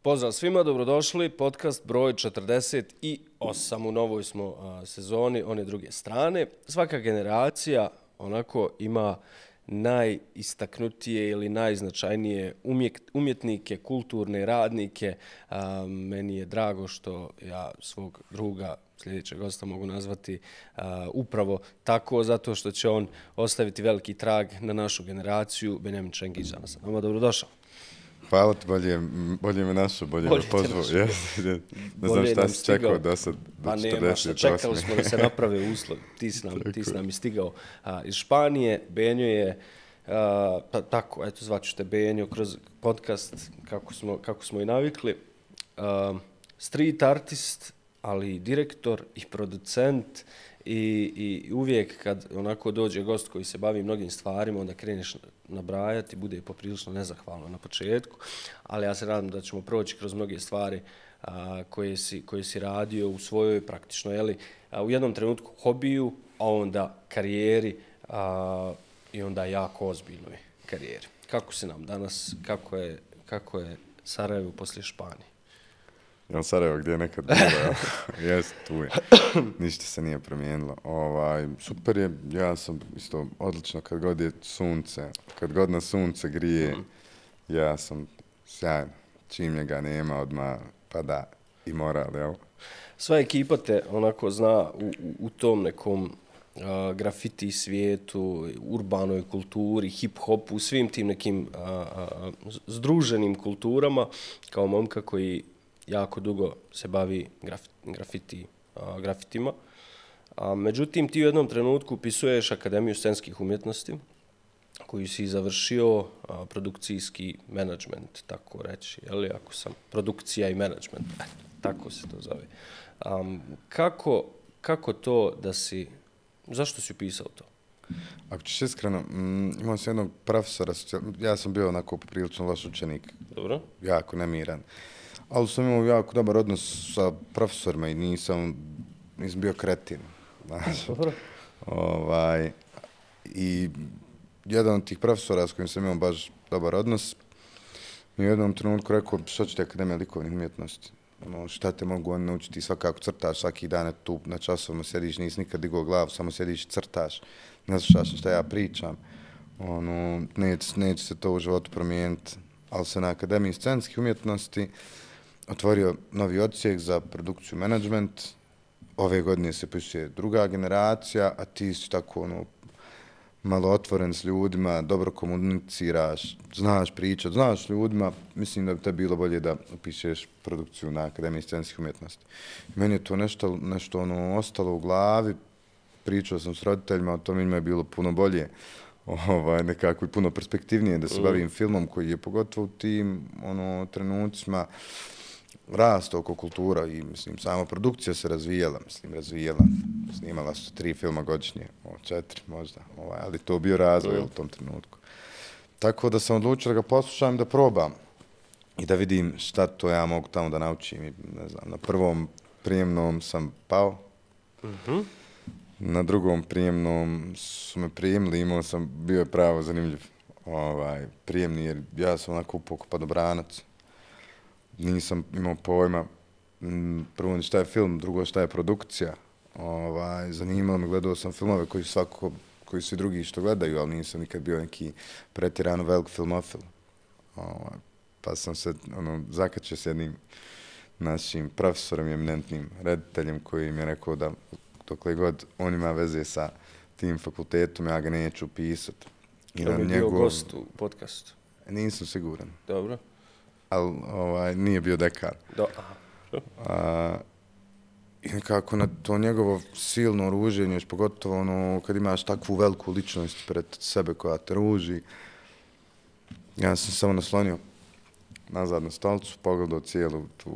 Pozdrav svima, dobrodošli, podcast broj 48, u novoj smo sezoni, one druge strane. Svaka generacija onako ima najistaknutije ili najznačajnije umjetnike, kulturne radnike. Meni je drago što ja svog druga sljedećeg gosta mogu nazvati upravo tako, zato što će on ostaviti veliki trag na našu generaciju. Benjamin Čengić danas sa nama, dobrodošao. Hvala ti, bolje me našao, bolje me pozvao. Ne znam šta si čekao do sad, do 48. Čekali smo da se naprave uslovi. Ti si nam istigao iz Španije. Benjo je, tako, eto, zvaću te Benjo kroz podcast, kako smo i navikli. Street artist, ali i direktor i producent i uvijek kad onako dođe gost koji se bavi mnogim stvarima, onda kreneš nabrajati, bude poprilično nezahvalno na početku, ali ja se nadam da ćemo proći kroz mnoge stvari koje si radio u svojoj praktično, u jednom trenutku hobiju, a onda karijeri i onda jako ozbiljnoj karijeri. Kako si nam danas, kako je Sarajevo poslije Španije? Jel Sarajevo gdje je nekad bilo, jest, tu je. Ništa se nije promijenilo. Super je, ja sam isto odlično kad god je sunce, kad god na sunce grije, ja sam sjajan. Čim njega nema, odmah pada i moral, jel? Sva ekipa te onako zna u tom nekom grafiti svijetu, urbanoj kulturi, hip-hopu, u svim tim nekim združenim kulturama, kao momka koji jako dugo se bavi grafitima. Međutim, ti u jednom trenutku upisuješ Akademiju scenskih umjetnosti, koju si završio produkcijski menadžment, tako reći, ako sam produkcija i menadžment, tako se to zove. Kako to da si, zašto si upisao to? Ako ćeš iskreno, imao sam jednog profesora, ja sam bio onako poprilično loš učenik, dobro, jako nemiran. Ali sam imao jako dobar odnos sa profesorima i nisam bio kretin. I jedan od tih profesora s kojim sam imao baš dobar odnos mi u jednom trenutku rekao što će ti Akademija likovnih umjetnosti? Šta te mogu oni naučiti? Svakako crtaš, svaki dan tu na časovima sjediš, nisi nikad digao glavu, samo sjediš i crtaš. Ne slušaš šta ja pričam. Neće se to u životu promijeniti. Ali se na Akademiji scenskih umjetnosti otvorio novi odsjek za produkciju menadžment. Ove godine se pisuje druga generacija, a ti si tako malo otvoren s ljudima, dobro komuniciraš, znaš pričat, znaš ljudima. Mislim da bi te bilo bolje da upišeš produkciju na Akademiji scenskih umjetnosti. Meni je to nešto ostalo u glavi. Pričao sam s roditeljima, o tom njima je bilo puno bolje. Nekako i puno perspektivnije da se bavim filmom koji je pogotovo u tim trenucima rasta oko kultura i sama produkcija se razvijala. Snimala su 3 filma godišnje, 4 možda, ali to bio razvoj u tom trenutku. Tako da sam odlučio da ga poslušam, da probam i da vidim šta to ja mogu tamo da naučim. Ne znam, na prvom prijemnom sam pao, na drugom prijemnom su me prijemili, bio je pravo zanimljiv prijemni jer ja sam onako upoko padobranac. Nisam imao pojma, prvo šta je film, drugo šta je produkcija. Zanimalo me, gledao sam filmove koji svi drugi što gledaju, ali nisam nikad bio neki pretjerano velik filmofil. Pa sam se zakačio s jednim našim profesorom i eminentnim rediteljem koji mi je rekao da dokle god on ima veze sa tim fakultetom, ja ga neću upisati. On je bio gost u podcastu? Nisam siguran. Dobro. Ali nije bio dekan. I nekako na to njegovo silno ruženje, još pogotovo kad imaš takvu veliku ličnost pred sebe koja te ruži, ja sam samo naslonio nazad na stolicu, pogledao cijelu tu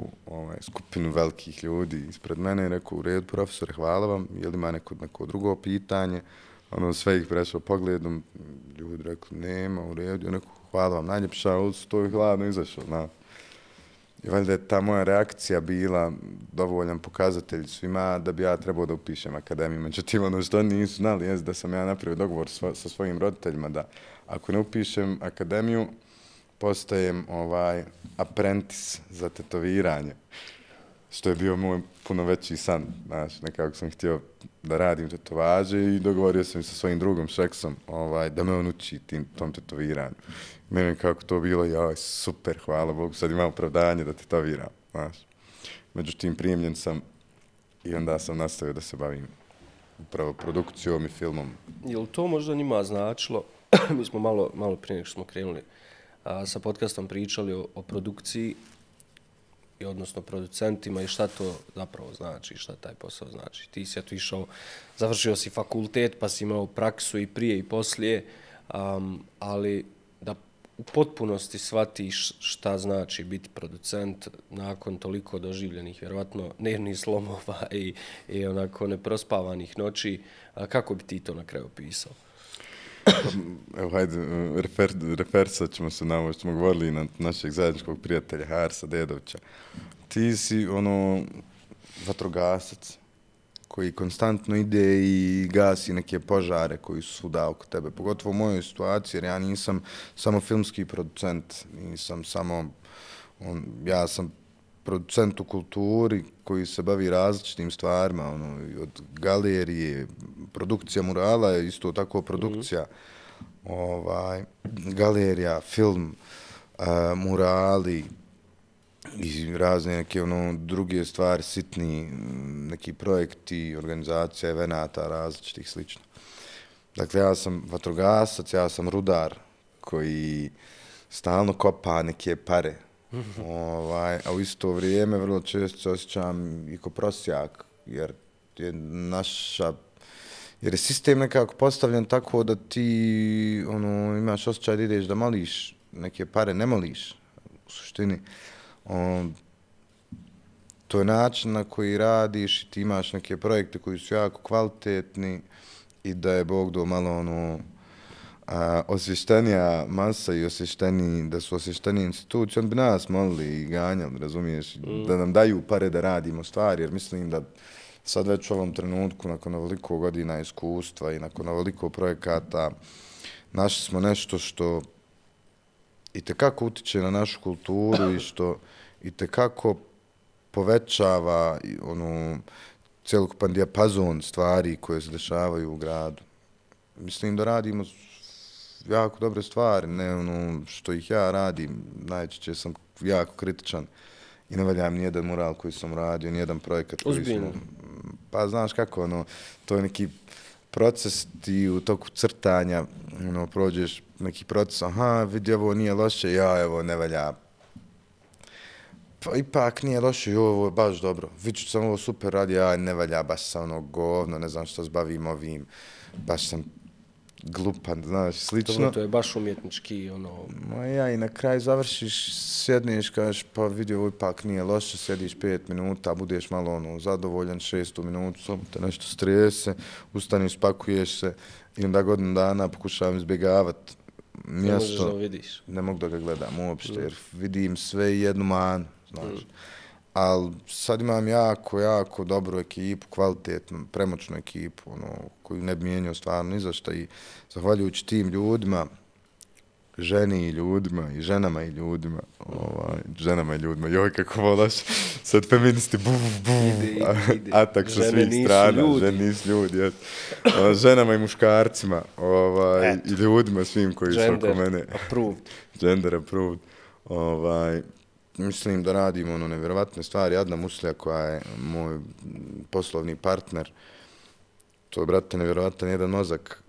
skupinu velikih ljudi ispred mene i rekao, u redu profesore, hvala vam, je li ima neko drugo pitanje? Sve ih prešao pogledom, ljudi rekli, nema, u redu, rekao, hvala vam, najljepša, to je hladno izašao. I valjda je ta moja reakcija bila dovoljan pokazatelj svima da bi ja trebao da upišem Akademiju. Međutim, što nisu znali je da sam ja napravio dogovor sa svojim roditeljima da ako ne upišem Akademiju, postajem apprentice za tetoviranje, što je bio moj puno veći san, znaš, nekako sam htio da radim tetovaže i dogovorio sam sa svojim drugom Šeksom da me on uči tom tetoviranju. Meni kako to bilo, joj, super, hvala Bogu, sad imam opravdanje da tetoviram, znaš. Međutim, primljen sam i onda sam nastavio da se bavim upravo produkcijom i filmom. Je li to možda njima značilo? Mi smo malo prije nego što smo krenuli sa podcastom pričali o produkciji, i odnosno producentima i šta to zapravo znači, šta taj posao znači. Ti si išao, završio si fakultet, pa si imao praksu i prije i poslije, ali da u potpunosti shvatiš šta znači biti producent nakon toliko doživljenih, vjerovatno nervnih slomova i onako neprospavanih noći, kako bi ti to na kraju opisao? Evo, hajde, refersat ćemo se na ovo što smo govorili na našeg zajedničkog prijatelja Harsa Dedovića. Ti si vatrogasac koji konstantno ide i gasi neke požare koji su svuda oko tebe. Pogotovo u mojoj situaciji, jer ja nisam samo filmski producent, ja sam producent u kulturi koji se bavi različitim stvarima, od galerije, produkcija murala je isto tako produkcija, galerija, film, murali i razne neke druge stvari, sitni neki projekti, organizacija evenata različitih slično. Dakle, ja sam vatrogasac, ja sam rudar koji stalno kopa neke pare. A u isto vrijeme vrlo često se osjećam i ko prosjak, jer je sistem nekako postavljen tako da ti imaš osjećaj da ideš da moliš neke pare, ne moliš u suštini. To je način na koji radiš i ti imaš neke projekte koji su jako kvalitetni i da je Bog do malo osvještenija masa i da su osvještenije institucije, on bi nas molili i ganjali, razumiješ, da nam daju pare da radimo stvari, jer mislim da sad već u ovom trenutku, nakon ovoliko godina iskustva i nakon ovoliko projekata, našli smo nešto što itekako utiče na našu kulturu i što itekako povećava cjelokupan dijapazon stvari koje se dešavaju u gradu. Mislim da radimo jako dobre stvari, ne što ih ja radim, najčešće sam jako kritičan i ne valjam nijedan mural koji sam radio, nijedan projekat koji Ozbiljno. Pa znaš kako, to je neki proces, ti u toku crtanja prođeš neki proces, vidi ovo nije loše, evo ne valja. Pa ipak nije loše, ovo je baš dobro. Viću sam ovo super radi, ne valja, baš sam govno, ne znam što se bavim ovim, baš sam glupan, znaš, slično. To je baš umjetnički, I na kraju završiš, sjedneš, kažeš, pa vidi, ovo ipak nije loše, sjediš 5 minuta, budeš malo zadovoljan, 6. minutu, samo te nešto strese, ustaneš, spakuješ se i onda godinu dana pokušavam izbjegavati mjesto. Ne možeš da vidiš. Ne mogu da ga gledam uopšte, jer vidim sve i jednu manu, znaš. Ali sad imam jako dobru ekipu, kvalitetnu, premoćnu ekipu, koju ne bi mijenio stvarno ni za šta i zahvaljujući tim ljudima, ženi i ljudima, i ženama i ljudima, joj kako volaš, sad feministi, atak sa svih strana, žene nisu ljudi, ženama i muškarcima, i ljudima svim koji su oko mene. Gender approved. Mislim da radimo nevjerovatne stvari. Adna Muslija koja je moj poslovni partner, to je, brate, nevjerovatan jedan mozak.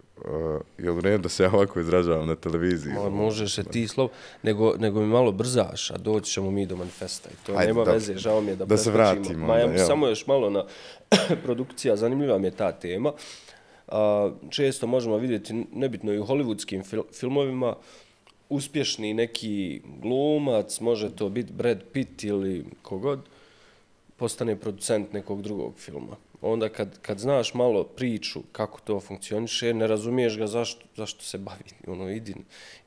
Je li red da se ja ovako izražavam na televiziji? Možeš se ti nego mi malo brzaš, a doći ćemo mi do manifesta. I to nema veze, žao mi je da se vratimo. Samo još malo na produkcija, zanimljiva mi je ta tema. Često možemo vidjeti, nebitno i u hollywoodskim filmovima, uspješni neki glumac, može to biti Brad Pitt ili kogod, postane producent nekog drugog filma. Onda kad znaš malo priču kako to funkcioniše, ne razumiješ ga zašto se bavi.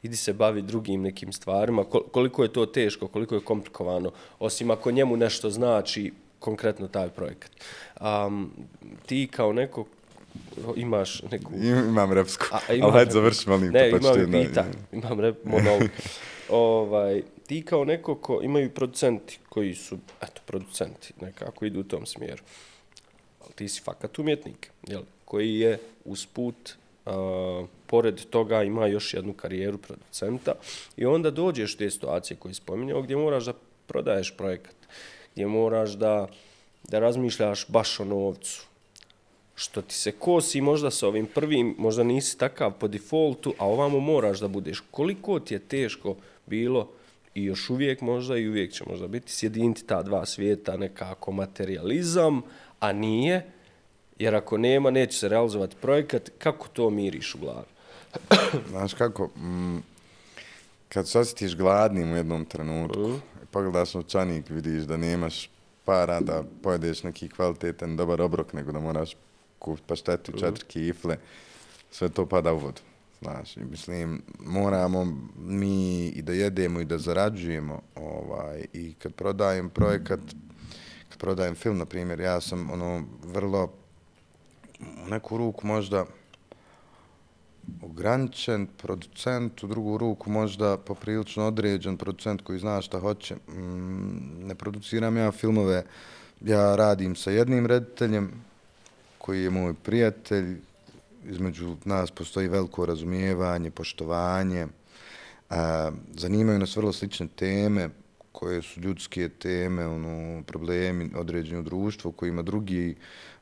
Idi se bavi drugim nekim stvarima. Koliko je to teško, koliko je komplikovano, osim ako njemu nešto znači konkretno taj projekat. Ti kao neko imaš neku... Imam repsku, ali imam hajde završi, molim te. Ne, imam pitanje, imam monolog. Ti kao neko ko imaju producenti koji su, eto, producenti, nekako idu u tom smjeru. Ali ti si fakat umjetnik, jel? Koji je usput, pored toga ima još jednu karijeru producenta i onda dođeš u te situacije koje spominjao gdje moraš da prodaješ projekat, gdje moraš da razmišljaš baš o novcu. Što ti se kosi možda sa ovim prvim, možda nisi takav po defaultu, a ovamo moraš da budeš. Koliko ti je teško bilo i još uvijek možda i uvijek će možda biti sjediniti ta dva svijeta, nekako materializam, a nije, jer ako nema, neće se realizovati projekat. Kako to miriš u glavi? Znaš kako, kad se osjetiš gladnim u jednom trenutku, pogledaš novčanik, vidiš da nemaš para da pojedeš neki kvalitetan, dobar obrok, nego da moraš kupiti paštetu, 4 kifle, sve to pada u vodu. Znaš, mislim, moramo mi i da jedemo i da zarađujemo, i kad prodajem projekat, kad prodajem film, na primjer, ja sam vrlo u neku ruku možda ograničen producent, u drugu ruku možda poprilično određen producent koji zna šta hoće. Ne produciram ja filmove, ja radim sa jednim rediteljem koji je moj prijatelj, između nas postoji veliko razumijevanje, poštovanje, zanimaju nas vrlo slične teme koje su ljudske teme, problemi određeni u društvu kojima drugi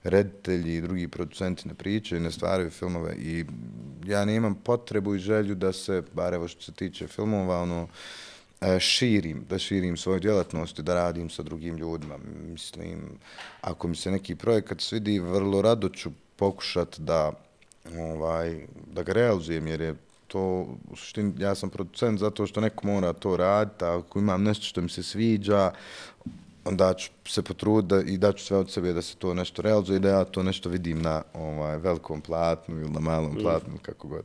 reditelji i drugi producenti ne pričaju, ne stvaraju filmove i ja nemam potrebu i želju da se, bar evo što se tiče filmova, da širim svoju djelatnost i da radim sa drugim ljudima. Mislim, ako mi se neki projekat svidi, vrlo rado ću pokušati da ga realizujem, jer je to, u suštini, ja sam producent zato što neko mora to raditi, a ako imam nešto što mi se sviđa, onda ću se potruditi i daću sve od sebe da se to nešto realizuje i da ja to nešto vidim na velikom platnu ili na malom platnu, kako god.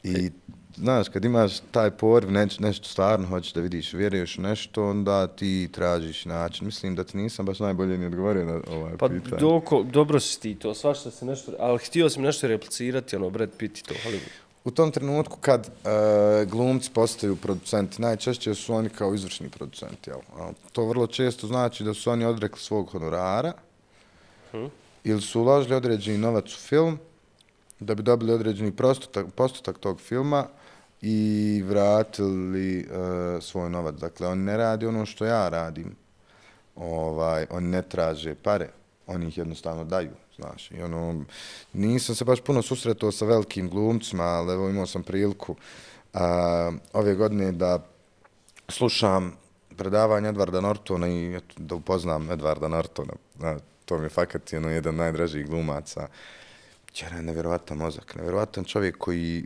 I, znaš, kad imaš taj poriv, nešto stvarno hoćeš da vidiš, vjeruješ u nešto, onda ti tražiš način. Mislim da ti nisam baš najbolje ni odgovorio na pitanje. Pa dobro si ti to, svašta se nešto, ali htio sam nešto replicirati, Brad Pitt i to, Hollywood. U tom trenutku kad glumci postaju producenti, najčešće su oni kao izvršni producenti. Jel? To vrlo često znači da su oni odrekli svog honorara ili su uložili određeni novac u film da bi dobili određeni postotak tog filma i vratili svoj novac. Dakle, oni ne radi ono što ja radim. Oni ne traže pare, oni ih jednostavno daju. Znaš, i nisam se baš puno susretao sa velikim glumcima, ali evo imao sam priliku ove godine da slušam predavanje Edwarda Nortona i da upoznam Edwarda Nortona. To mi je fakat jedan najdražih glumaca. Jer je nevjerovatan mozak, nevjerovatan čovjek koji,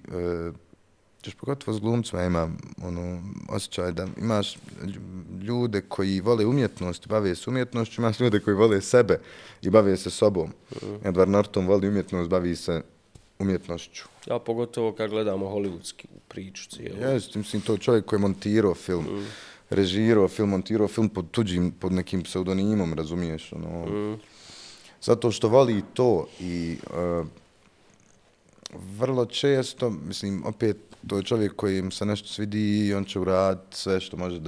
još pogotovo s glumcima ima osjećaj da imaš ljude koji vole umjetnost i bave se umjetnošću, imaš ljude koji vole sebe i bave se sobom. Edward Norton voli umjetnost, bavi se umjetnošću. Ja pogotovo kad gledamo hollywoodsku priču cijelu. Jeste, mislim, to je čovjek koji je montirao film, režirao film, montirao film pod nekim pseudonimom, razumiješ, zato što voli to i vrlo često, mislim, opet, to je čovjek kojim se nešto svidi i on će uraditi sve što može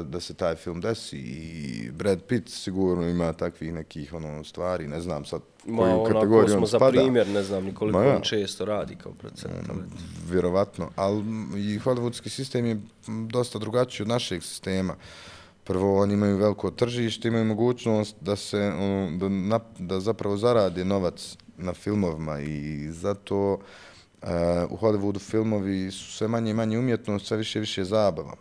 da se taj film desi i Brad Pitt sigurno ima takvih nekih stvari, ne znam sad koju kategoriju on spada. Za primjer, ne znam nikoliko on često radi kao producent. Vjerovatno, ali i hollywoodski sistem je dosta drugačiji od našeg sistema. Prvo, oni imaju veliko tržište, imaju mogućnost da zapravo zarade novac na filmovima i zato u Hollywoodu filmovi su sve manje i manje umjetnost, sve više i više zabava.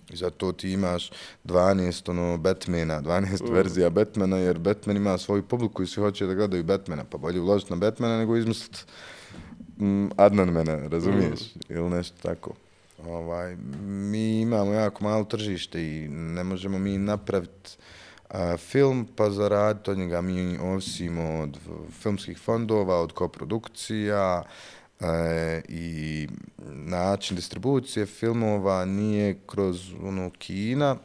I zato ti imaš 12 Batmana, 12 verzija Batmana, jer Batman ima svoju publiku i svi hoće da gledaju Batmana, pa bolje uložiti na Batmana nego izmisliti Adnanmana, razumiješ? Ili nešto tako. Mi imamo jako malo tržište i ne možemo mi napraviti film pa zaraditi od njega. Mi ovisimo od filmskih fondova, od koprodukcija i način distribucije filmova nije kroz kina,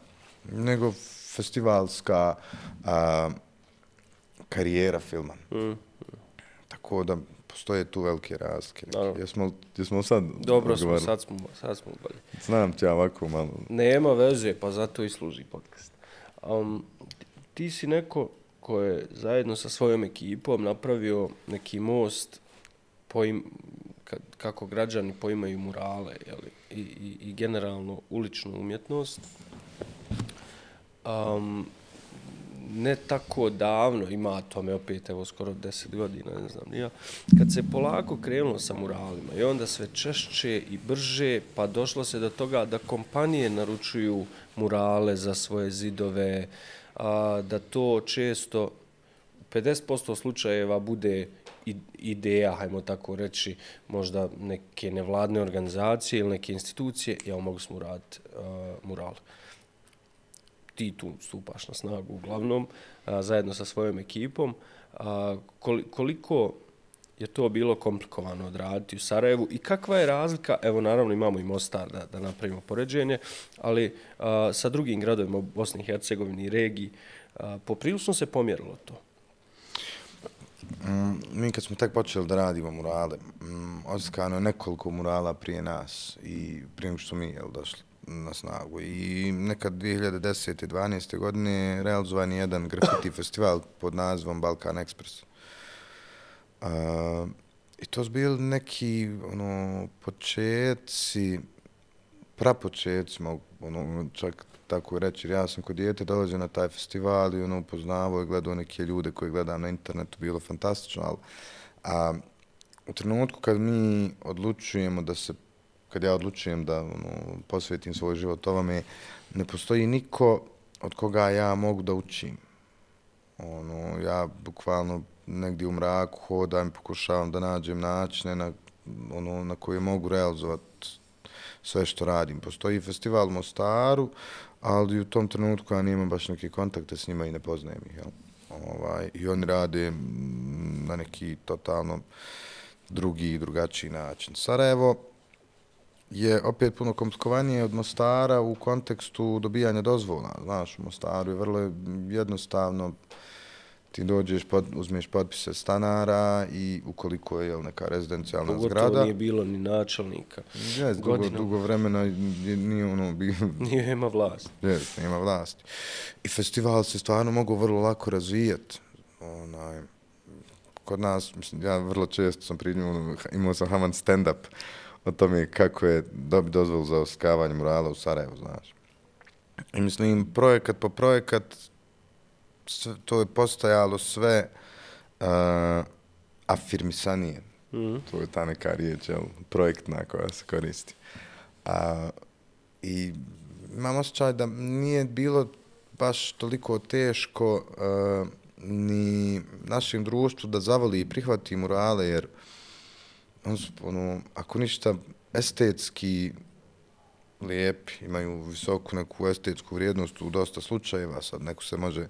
nego festivalska karijera filma. Tako da postoje tu velike razlike. Naravno. Jesmo sad Dobro smo, sad smo bolje. Znam ti ja ovako malo. Nema veze, pa zato i služi podcast. Ti si neko ko je zajedno sa svojom ekipom napravio neki most kako građani poimaju murale, jeli, i generalno uličnu umjetnost. Ne tako davno, ima tome opet, evo skoro 10 godina, ne znam, ja, kad se polako krenulo sa muralima i onda sve češće i brže, pa došlo se do toga da kompanije naručuju murale za svoje zidove, da to često u 50% slučajeva bude ideja, hajmo tako reći, možda neke nevladne organizacije ili neke institucije, ja mogu smo uraditi mural. Ti tu stupaš na snagu uglavnom, zajedno sa svojom ekipom. Koliko je to bilo komplikovano odraditi u Sarajevu i kakva je razlika, evo naravno imamo i Mostar da napravimo poređenje, ali sa drugim gradovima u Bosni i Hercegovini i regiji, poprilično se pomjerilo to. Mi kad smo tek počeli da radimo murale, odskano je nekoliko murala prije nas i prije što mi došli na snagu. I nekad 2010. 12. godine realizovan je jedan grafiti festival pod nazivom Balkan Express. I to su bili neki početci, prapočetci, čak tako reći, jer ja sam kod dijete dolazio na taj festival i upoznavao i gledao neke ljude koje gledam na internetu, bilo fantastično, ali u trenutku kad mi odlučujemo kad ja odlučujem da posvetim svoj život ovome, ne postoji niko od koga ja mogu da učim. Ja bukvalno negdje u mraku hodam i pokušavam da nađem načine na koje mogu realizovati sve što radim. Postoji festival u Mostaru, ali u tom trenutku ja nemam baš neke kontakte s njima i ne poznajem ih. I oni rade na neki totalno drugačiji način. Sarajevo je opet puno komplikovanije od Mostara u kontekstu dobijanja dozvola. Znaš, u Mostaru je vrlo jednostavno, ti dođeš, uzmeš potpise stanara i ukoliko je neka rezidencijalna zgrada. Pogotovo nije bilo ni načelnika. Dugo vremena nije Nije ima vlast. Nema vlasti. I festival se stvarno mogu vrlo lako razvijati. Kod nas, mislim, ja vrlo često sam imao sam Haman stand-up o tome kako je dobiti dozvolu za oslikavanje murala u Sarajevu, znaš. I mislim, projekat po projekat, to je postajalo sve afirmisanije. To je ta neka riječ, projektna koja se koristi. I imam osjećaj da nije bilo baš toliko teško ni našem društvu da zavoli i prihvati murale, jer ako ništa estetski lijepi, imaju visoku neku estetsku vrijednost u dosta slučajeva, sad neko se može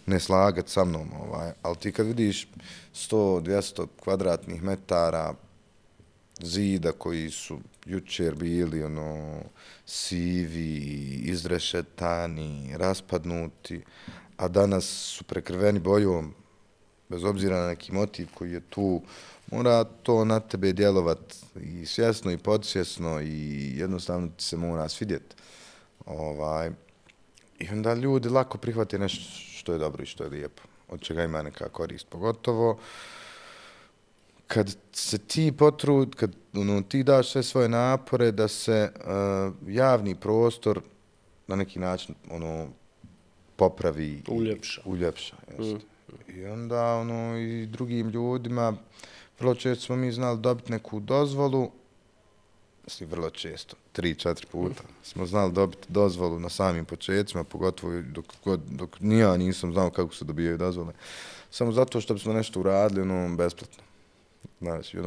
ne slagati sa mnom, ali ti kad vidiš 100-200 kvadratnih metara zida koji su jučer bili sivi, izrešetani, raspadnuti, a danas su prekrveni bojom, bez obzira na neki motiv koji je tu, mora to na tebe djelovati i svjesno i podsvjesno i jednostavno ti se mora svidjeti. I onda ljudi lako prihvate nešto što je dobro i što je lijepo, od čega ima neka korist. Pogotovo kad se ti potrud, kad ti daš sve svoje napore da se javni prostor na neki način popravi. Uljepša. I onda i drugim ljudima, vrlo često smo mi znali dobiti neku dozvolu, mislim vrlo često, 3-4 puta smo znali dobiti dozvolu na samim početcima, pogotovo dok ja nisam znao kako se dobijaju dozvole. Samo zato što bismo nešto uradili besplatno. Znači,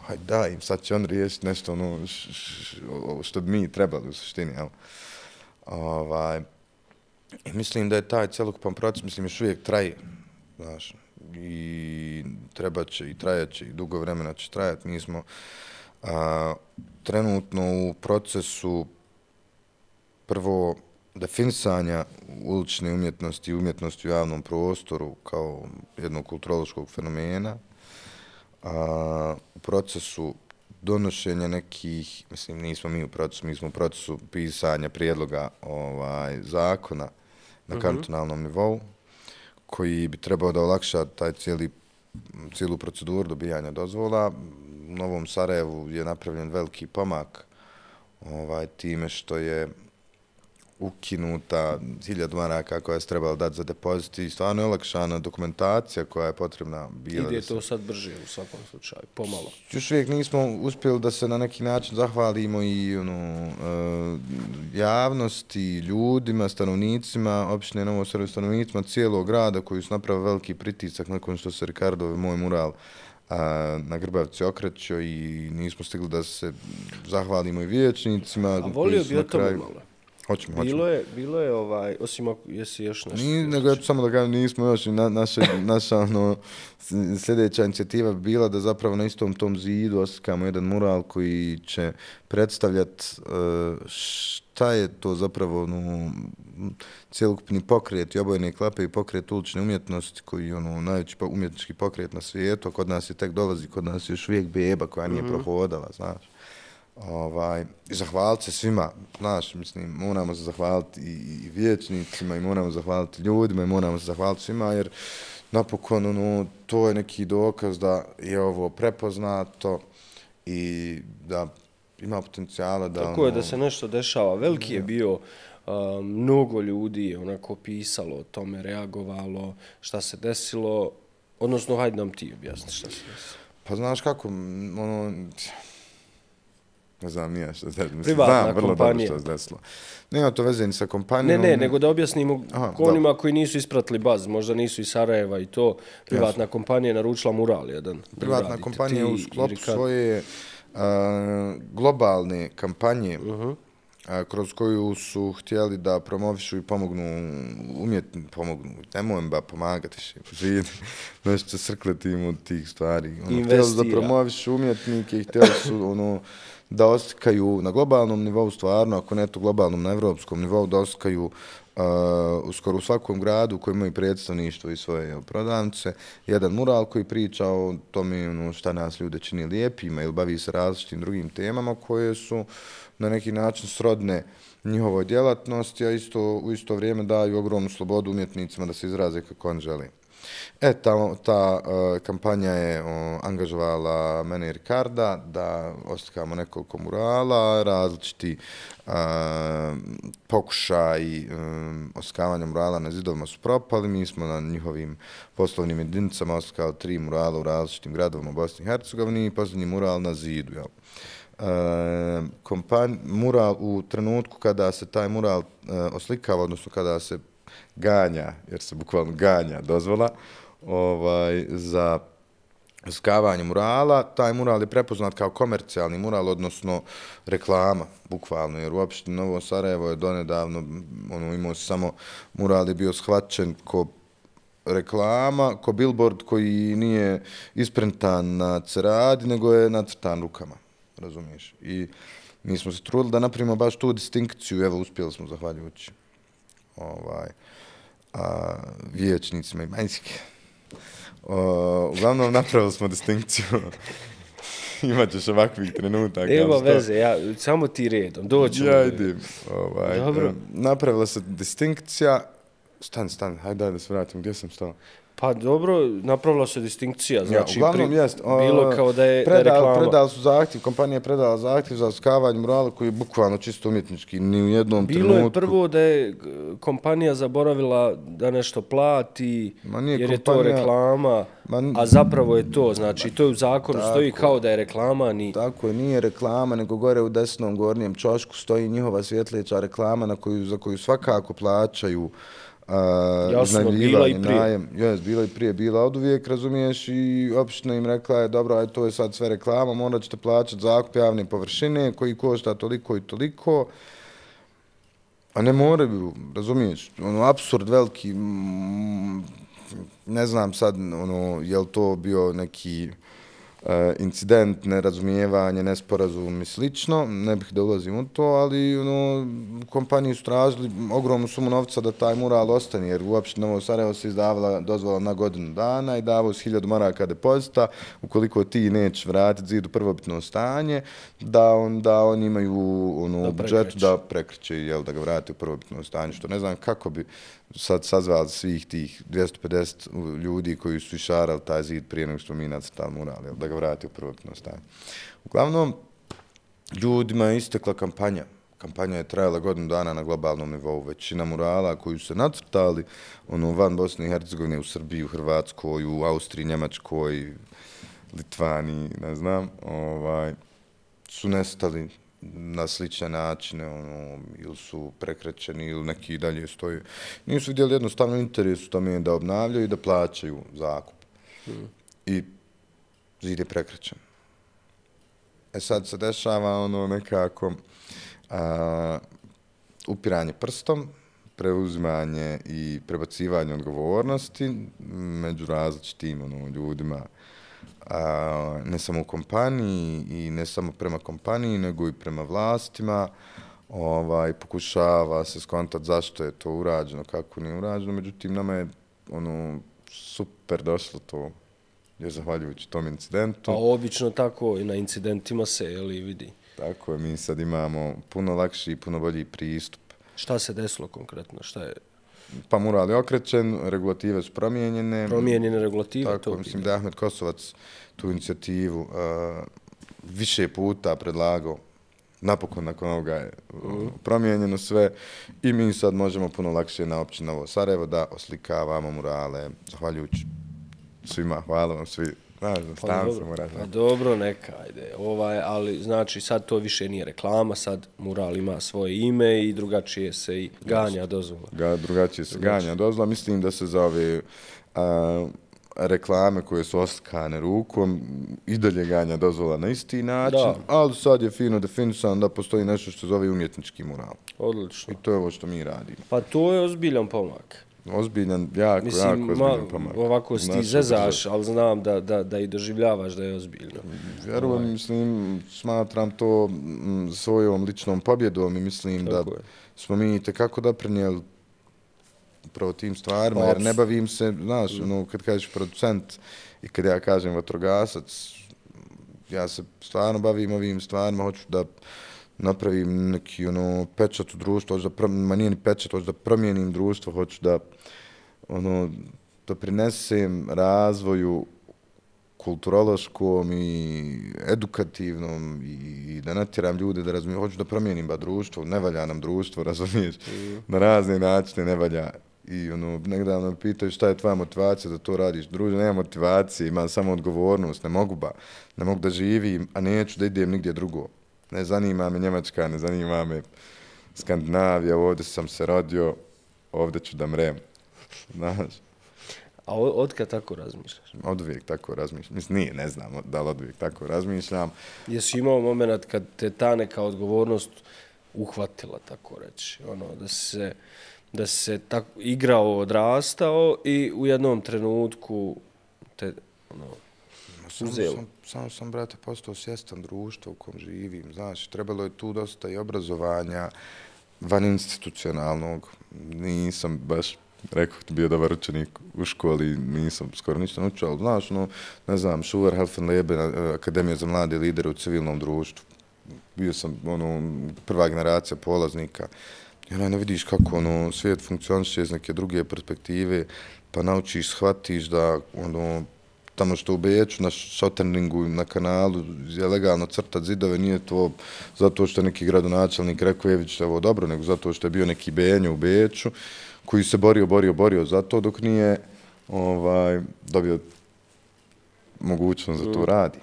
hajde daj im, sad će on riješiti nešto što bi mi trebali u suštini. I mislim da je taj celokupan proces, mislim, još uvijek traje. Znaš, i treba će i trajaće i dugo vremena će trajati. Mi smo trenutno u procesu prvo definisanja ulične umjetnosti i umjetnosti u javnom prostoru kao jednog kulturološkog fenomena. u procesu donošenja nekih, mislim, nismo mi u procesu, mi smo u procesu pisanja prijedloga zakona na kantonalnom nivou, koji bi trebao da olakša taj cijelu proceduru dobijanja dozvola. U Novom Sarajevu je napravljen veliki pomak time što je ukinuta 1000 maraka koja se trebala dati za depozit i stvarno je olakšana dokumentacija koja je potrebna bila. Ide to sad brže u svakom slučaju, pomalo. Još uvijek nismo uspjeli da se na neki način zahvalimo i javnosti, ljudima, stanovnicima, opštine Novo Sarajevo, stanovnicima cijelog grada koji su napravili veliki pritisak nakon što se Ricardov moj mural na Grbavci okrećio i nismo stigli da se zahvalimo i vijećnicima. A volio bi o tome malo. Hoćemo. Bilo je osim ako jesi još nešto... Nego ja ću samo da kažem, nismo još i naša sljedeća inicijativa bi bila da zapravo na istom tom zidu oslikamo jedan mural koji će predstavljati šta je to zapravo cjelokupni pokret i obojene klape i pokret ulične umjetnosti koji je najveći umjetnički pokret na svijetu. Kod nas je tek dolazi, kod nas je još uvijek beba koja nije prohodala, znaš. I zahvaliti se svima, znaš, mislim, moramo se zahvaliti i vijećnicima i moramo zahvaliti ljudima i moramo se zahvaliti svima jer napokon to je neki dokaz da je ovo prepoznato i da ima potencijala da... Tako je da se nešto dešava. Veliki je bio, mnogo ljudi je onako pisalo o tome, reagovalo, šta se desilo, odnosno hajde nam ti objasni šta se desilo. Pa znaš kako, ne znam nije što se desilo. Privatna vrlo kompanija. dobro što se desilo. Nema to veze ni sa kompanijom. Ne, nego da objasnimo onima koji nisu ispratili baz, možda nisu iz Sarajeva i to. Privatna kompanija je naručila mural jedan. Privatna kompanija u sklopu svoje globalne kampanje kroz koju su htjeli da promovišu i pomognu nemoj ba pomagati nešto će srkleti im od tih stvari. Htjeli da promovišu umjetnike i htjeli su da oslikaju na globalnom nivou stvarno, ako ne to globalnom, na evropskom nivou, da oslikaju skoro u svakom gradu koji imaju predstavništvo i svoje prodavnice, jedan mural koji priča o tome šta nas ljude čini lijepima ili bavi se različitim drugim temama koje su na neki način srodne njihovoj djelatnosti, a u isto vrijeme daju ogromnu slobodu umjetnicima da se izraze kako oni žele. Ta kampanja je angažovala mene i Ricarda da oslikamo nekoliko murala, različiti pokušaj oslikavanja murala na zidovima su propali. Mi smo na njihovim poslovnim jedinicama oslikali 3 murala u različitim gradovima u Bosni i Hercegovini i posljednji mural na zidu. Mural u trenutku kada se taj mural oslikava, odnosno kada se ganja, jer se bukvalno ganja dozvola za oslikavanje murala, taj mural je prepoznat kao komercijalni mural, odnosno reklama, bukvalno, jer uopšte Novo Sarajevo je donedavno, imao samo mural je bio shvaćen ko reklama, ko billboard koji nije isprintan na ceradi, nego je nacrtan rukama, razumiješ? I mi smo se trudili da napravimo baš tu distinkciju, evo uspjeli smo zahvaljujući vijećnicima i manjske. Uglavnom napravili smo distinkciju. Imaćeš ovakvih trenutaka. Nema veze, samo ti redom, doćemo. Ja idem. Napravila se distinkcija. Stani, hajde da se vratim, gdje sam stao? Pa dobro, napravila se distinkcija, znači uglavnom bilo kao da je reklama. Predali su zahtjev, kompanija je predala zahtjev za oslikavanje murala koji je bukvalno čisto umjetnički, ni u jednom trenutku. Bilo je prvo da je kompanija zaboravila da nešto plati, jer je to reklama, a zapravo je to, znači to je u zakonu stoji kao da je reklama. Tako je, nije reklama, nego gore u desnom gornjem čošku stoji njihova svjetleća reklama za koju svakako plaćaju jasno, bila i prije. Bila i prije, bila od uvijek, razumiješ, i opština im rekla je, dobro, to je sad sve reklama, morat ćete plaćati zakup javne površine koji košta toliko i toliko, a ne moraju, razumiješ, apsurd veliki, ne znam sad, je li to bio neki incident, nerazumijevanje, nesporazum i slično, ne bih da ulazim u to, ali kompaniji su tražili ogromnu sumu novca da taj mural ostane, jer uopšte Novo Sarajevo se izdavala dozvola na godinu dana i davao s 1000 maraka depozita, ukoliko ti nećeš vratiti zid u prvobitno stanje, da oni imaju u budžetu da prekriče, da ga vrati u prvobitno stanje, što ne znam kako bi sad sazvali svih tih 250 ljudi koji su išarali taj zid prije nego što mi nacrtali mural, da ga vrati u prvobitno stanje. Uglavnom, ljudima je istekla kampanja. Kampanja je trajala godinu dana na globalnom nivou. Većina murala koju su se nacrtali, van Bosne i Hercegovine, u Srbiji, u Hrvatskoj, u Austriji, Njemačkoj, Litvaniji, ne znam, su nestali na slične načine, ili su prekrećeni, ili neki dalje stoji. Nisu vidjeli jednostavno interes u tome da obnavljaju i da plaćaju zakup. I zid je prekrećen. Sad se dešava nekako upiranje prstom, preuzimanje i prebacivanje odgovornosti među različitim ljudima, ne samo u kompaniji i ne samo prema kompaniji, nego i prema vlastima. Pokušava se skontati zašto je to urađeno, kako nije urađeno, međutim nama je super došlo to, je zahvaljujući tom incidentu. A obično tako i na incidentima se vidi. Tako je, mi sad imamo puno lakši i puno bolji pristup. Šta se desilo konkretno? Šta je? Pa mural je okrećen, regulative su promijenjene. Promijenjene regulative? Tako, mislim da je Ahmed Kosovac tu inicijativu više puta predlagao. Napokon nakon ovoga je promijenjeno sve i mi sad možemo puno lakše na općini Novo Sarajevo da oslikavamo murale. Zahvaljujući svima, hvala vam svi. Pa dobro, neka, ajde. Ali znači sad to više nije reklama, sad mural ima svoje ime i drugačije se i ganja dozvola. Drugačije se ganja dozvola. Mislim da se za ove reklame koje su oslikane rukom i dalje ganja dozvola na isti način, ali sad je fino definisano da postoji nešto što zove umjetnički mural. Odlično. I to je ovo što mi radimo. Pa to je ozbiljan pomak. Ozbiljan, jako ozbiljan pomak. Ovako si ti zezaš, ali znam da i doživljavaš da je ozbiljno. Vjerujem, smatram to svojom ličnom pobjedom i mislim da smo mi tekako doprinijeli upravo tim stvarima, jer ne bavim se, znaš, kad kažeš producent i kad ja kažem vatrogasac, ja se stvarno bavim ovim stvarima, hoću da napravim neki pečat u društvu, nije ni pečat, hoću da promijenim društvo, hoću da doprinesem razvoju kulturološkom i edukativnom i da natjeram ljude da razumiju, hoću da promijenim društvo, ne valja nam društvo, razumiješ, na razne načine ne valja. I nekada me pitaju šta je tvoja motivacija da to radiš. Druže, nema motivacije, imam samo odgovornost, ne mogu da živim, a neću da idem nigdje drugo. Ne zanima me Njemačka, ne zanima me Skandinavija, ovdje sam se rodio, ovdje ću da mrem. Znaš? A odkad tako razmišljaš? Oduvijek tako razmišljam. Mislim, ne znam da li oduvijek tako razmišljam. Jesi imao moment kad te ta neka odgovornost uhvatila, tako reći? Da se tako igrao, odrastao i u jednom trenutku te uzelo. Samo sam, brate, postao svjestan društva u kom živim. Znaš, trebalo je tu dosta i obrazovanja van institucionalnog. Nisam baš, rekao ti, bio dobar učenik u školi, nisam skoro ništa naučio, ali znaš, ne znam, Schuler, Helfenleben, Akademija za mlade lidere u civilnom društvu. Bio sam prva generacija polaznika. I ne vidiš kako svijet funkcioniše iz neke druge perspektive, pa naučiš, shvatiš da tamo što u Beču, na Šoterningu, na kanalu, je legalno crtat zidove, nije to zato što je neki gradonačelnik rekao Ević ovo dobro, nego zato što je bio neki Benjo u Beču, koji se borio za to dok nije dobio mogućnost da to radi.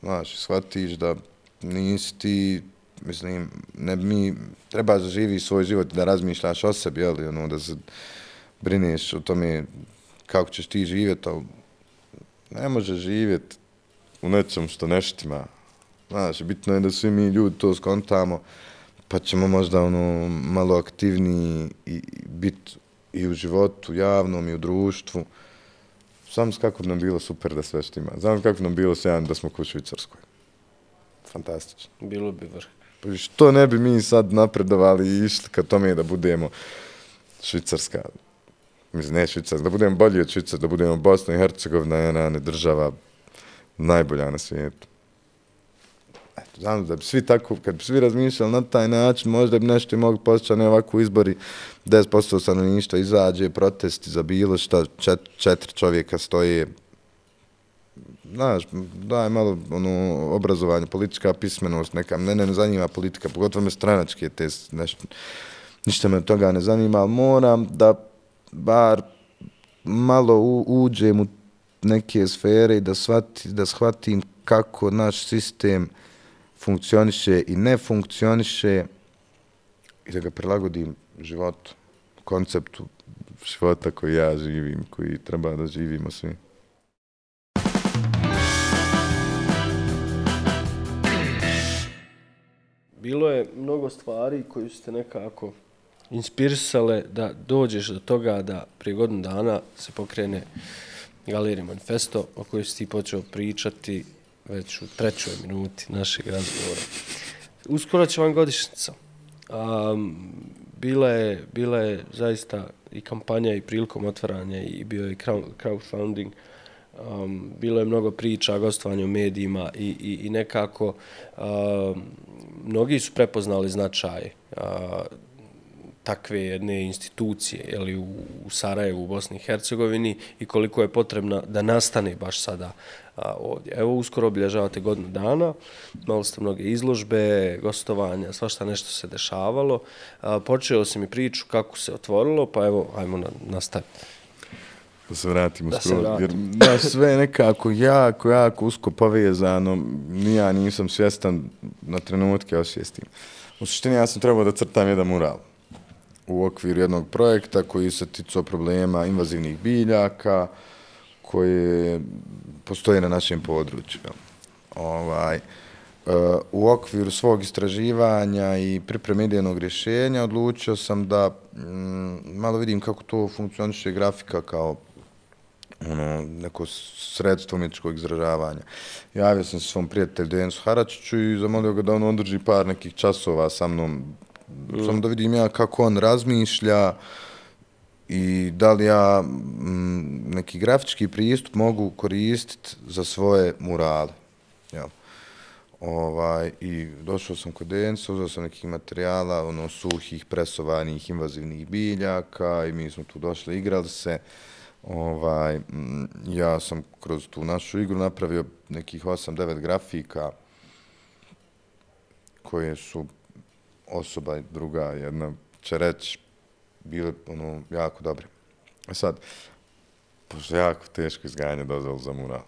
Znaš, shvatiš da nisi ti, mislim, mi treba da živiš svoj život, da razmišljaš o sebi, da se brineš o tome kako ćeš ti živjeti, ali ne može živjeti u nečem što neštima. Znaš, bitno je da svi mi ljudi to skontamo, pa ćemo možda malo aktivniji i biti i u životu javnom i u društvu. Znam kako bi nam bilo super da sve štima. Znam kako bi nam bilo sjajno da smo kod Švicarskoj. Fantastično. Bilo bi vrh. Pa što ne bi mi sad napredovali i išli ka tome da budemo Švicarska. Mislim, ne Švicarska, da budemo bolji od Švicarska, da budemo Bosna i Hercegovina, jedna država najbolja na svijetu. Eto, znam da bi svi tako, kad bi svi razmišljali na taj način, možda bi nešto i mogli postići, ne ovako izbori, 10% stanovništva izađe, protesti za bilo šta, 4 čovjeka stoje. Znaš, daj malo obrazovanje, politička pismenost, neka, mene ne zanima politika, pogotovo me stranačke te nešto, ništa me od toga ne zanima, ali moram da bar malo uđem u neke sfere i da shvatim kako naš sistem funkcioniše i ne funkcioniše i da ga prilagodim životu, konceptu života koji ja živim, koji treba da živimo svi. Bilo je mnogo stvari koji su te nekako inspirisale da dođeš do toga da prije godinu dana se pokrene Galerija Manifesto o kojoj si ti počeo pričati već u 3. minuti našeg razgovora. Uskoro će vam godišnjica. Bila je zaista i kampanja i prilikom otvaranja i bio je crowdfunding. Bilo je mnogo priča, gostovanja u medijima i nekako mnogi su prepoznali značaj takve jedne institucije jeli, u Sarajevu, u Bosni i Hercegovini i koliko je potrebna da nastane baš sada ovdje. Evo, uskoro obilježavate godinu dana, malo ste mnoge izložbe, gostovanja, svašta nešto se dešavalo. Počeo sam i priču kako se otvorilo, pa evo, ajmo nastaviti. Da se vratimo skroz, jer da sve je nekako jako usko povezano, ja nisam svjestan na trenutke osvijestim. U suštini ja sam trebao da crtam jedan mural u okviru jednog projekta koji se ticao problema invazivnih biljaka koje postoje na našem području. U okviru svog istraživanja i pripreme idejnog rješenja odlučio sam da malo vidim kako to funkcioniše grafika kao neko sredstvo umjetničkog izražavanja. Javio sam se svom prijatelju Denisu Haračiću i zamolio ga da on održi par nekih časova sa mnom, samo da vidim ja kako on razmišlja i da li ja neki grafički pristup mogu koristiti za svoje murale. I došao sam kod Denisa, uzeo sam nekih materijala, suhih, presovanih, invazivnih biljaka i mi smo tu došli, igrali se. Ja sam kroz tu našu igru napravio nekih 8-9 grafika koje su osoba i druga jedna će reći bile jako dobre. Sad, pošto je jako teško izgajanje dozvolu za mural,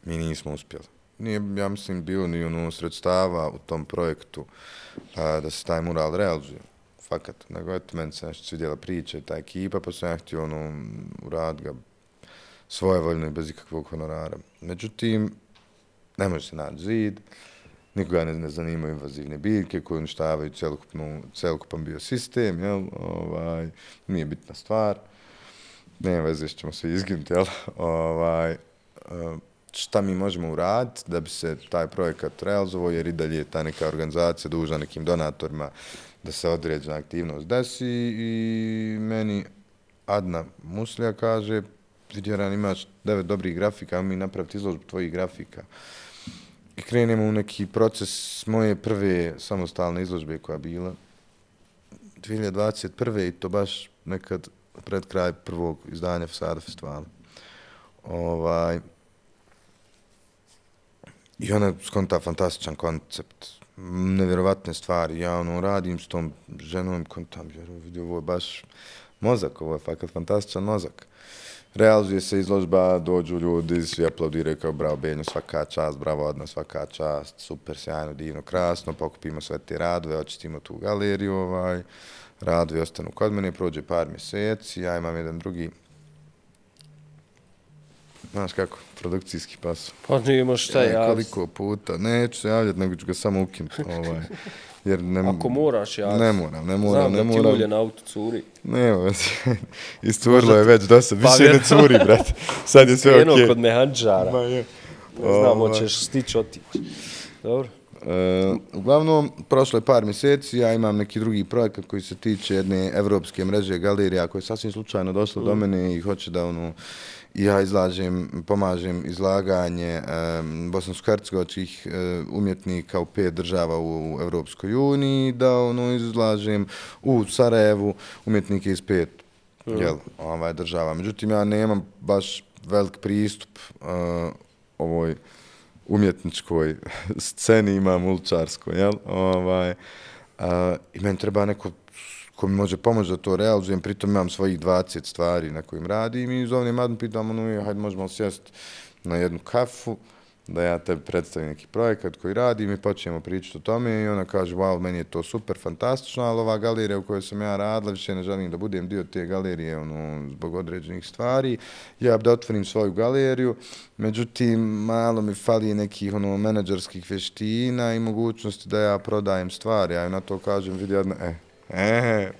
mi nismo uspjeli. Nije, ja mislim, bilo ni sredstava u tom projektu da se taj mural realizuje. Fakat, nego eto, meni se nešto svidjela priča i ta ekipa, pa sam ja htio uraditi ga svojevoljno i bez ikakvog honorara. Međutim, ne može se naći zid, nikoga ne zanimaju invazivne biljke koje uništavaju celokupan biosistem, jel? Nije bitna stvar. Nema veze, ćemo se izginuti, jel? Šta mi možemo uraditi da bi se taj projekat realizovao, jer i dalje je ta neka organizacija dužna nekim donatorima da se određena aktivnost desi i meni Adna Muslija kaže, Vidjeran, imaš 9 dobrih grafika, a mi napraviti izložbu tvojih grafika. I krenemo u neki proces moje prve samostalne izložbe koja je bila 2021. i to baš nekad pred kraj prvog izdanja Fasada festivala. I ona skonta fantastičan koncept, nevjerovatne stvari. Ja radim s tom ženom, kontam, vidio, ovo je baš mozak, ovo je fakat fantastičan mozak. Realizuje se izložba, dođu ljudi, svi aplaudiraju kao bravo Benjo, svaka čast, bravo Adna, svaka čast, super, sjajno, divno, krasno, pokupimo sve te radove, očistimo tu galeriju, radovi ostanu kod mene, prođe par mjeseci, ja imam jedan drugi znaš kako, produkcijski pas. Pa nima šta ja. Koliko puta, neću se javljati, nego ću ga samo ukinuti. Jer ako moraš javiti. Ne moram. Znam da ti ulje na auto curi. Nema, isturilo je već do sad, više ne curi, brate. Sad je sve okej. Krenuo kod mehanđara. Ne znam, hoćeš stići otići. Dobro. Uglavnom, prošlo je par mjeseci, ja imam neki drugi projekat koji se tiče jedne evropske mreže galerija koja je sasvim slučajno došla do mene i hoće da ja pomažem izlaganje bosansko-hercegovačkih umjetnika u 5 država u Evropskoj uniji, da izlažem u Sarajevu umjetnike iz 5 država. Međutim, ja nemam baš velik pristup ovoj umjetničkoj sceni, imam uličarskoj, jel? I meni treba neko ko mi može pomoći da to realizujem, pritom imam svojih 20 stvari na kojim radim i zovem Adnu, pitam, hajde možemo sjesti na jednu kafu, da ja tebi predstavim neki projekat koji radim i počnemo pričati o tome i ona kaže, wow, meni je to super, fantastično, ali ova galerija u kojoj sam ja radila, više ne želim da budem dio te galerije zbog određenih stvari. Ja bi da otvorim svoju galeriju, međutim, malo mi fali nekih menadžerskih vještina i mogućnosti da ja prodajem stvari. Ja na to kažem, vidi jedna,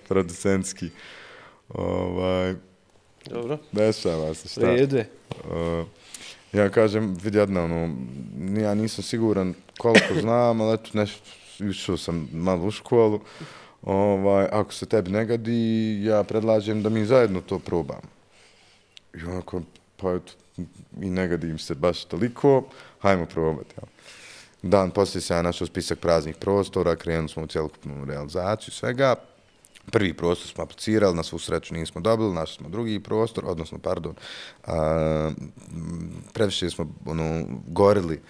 producentski. Dobro. Dešava se, šta? Rede. Ja kažem, vidi jedna, ja nisam siguran koliko znam, ali eto, išao sam malo u školu. Ako se tebi ne gadi, ja predlažem da mi zajedno to probamo. I onako, pa eto, i ne gadi im se baš toliko, hajmo probati. Ja. Dan poslije se ja našao spisak praznih prostora, krenuli smo u cjelokupnu realizaciju svega. Prvi prostor smo aplicirali, na svu sreću nismo dobili, našli smo drugi prostor, odnosno, previše smo gorili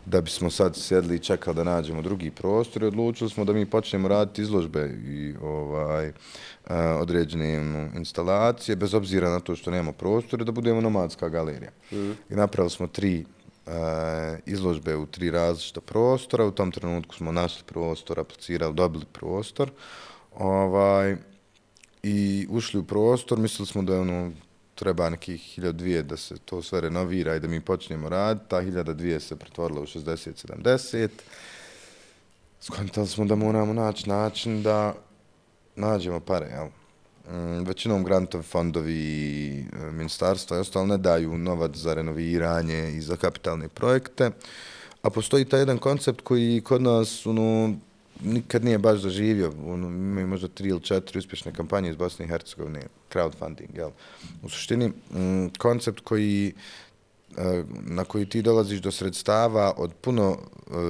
da bismo sad sjedli i čekali da nađemo drugi prostor i odlučili smo da mi počnemo raditi izložbe i određene instalacije, bez obzira na to što nemamo prostore, da budemo nomadska galerija. I napravili smo 3 izložbe u 3 različita prostora, u tom trenutku smo našli prostor, aplicirali, dobili prostor, i ušli u prostor, mislili smo da treba nekih 1200 da se to sve renovira i da mi počnemo raditi. Ta 1200 se pretvorila u 60-70. Skontali smo da moramo naći način da nađemo pare, jel? Većinom grantovi, fondovi i ministarstva i ostalo ne daju novac za renoviranje i za kapitalne projekte, a postoji taj jedan koncept koji kod nas nikad nije baš zaživio. Imaju možda 3 ili 4 uspješne kampanje iz Bosne i Hercegovine, crowdfunding, jel? U suštini, koncept na koji ti dolaziš do sredstava od puno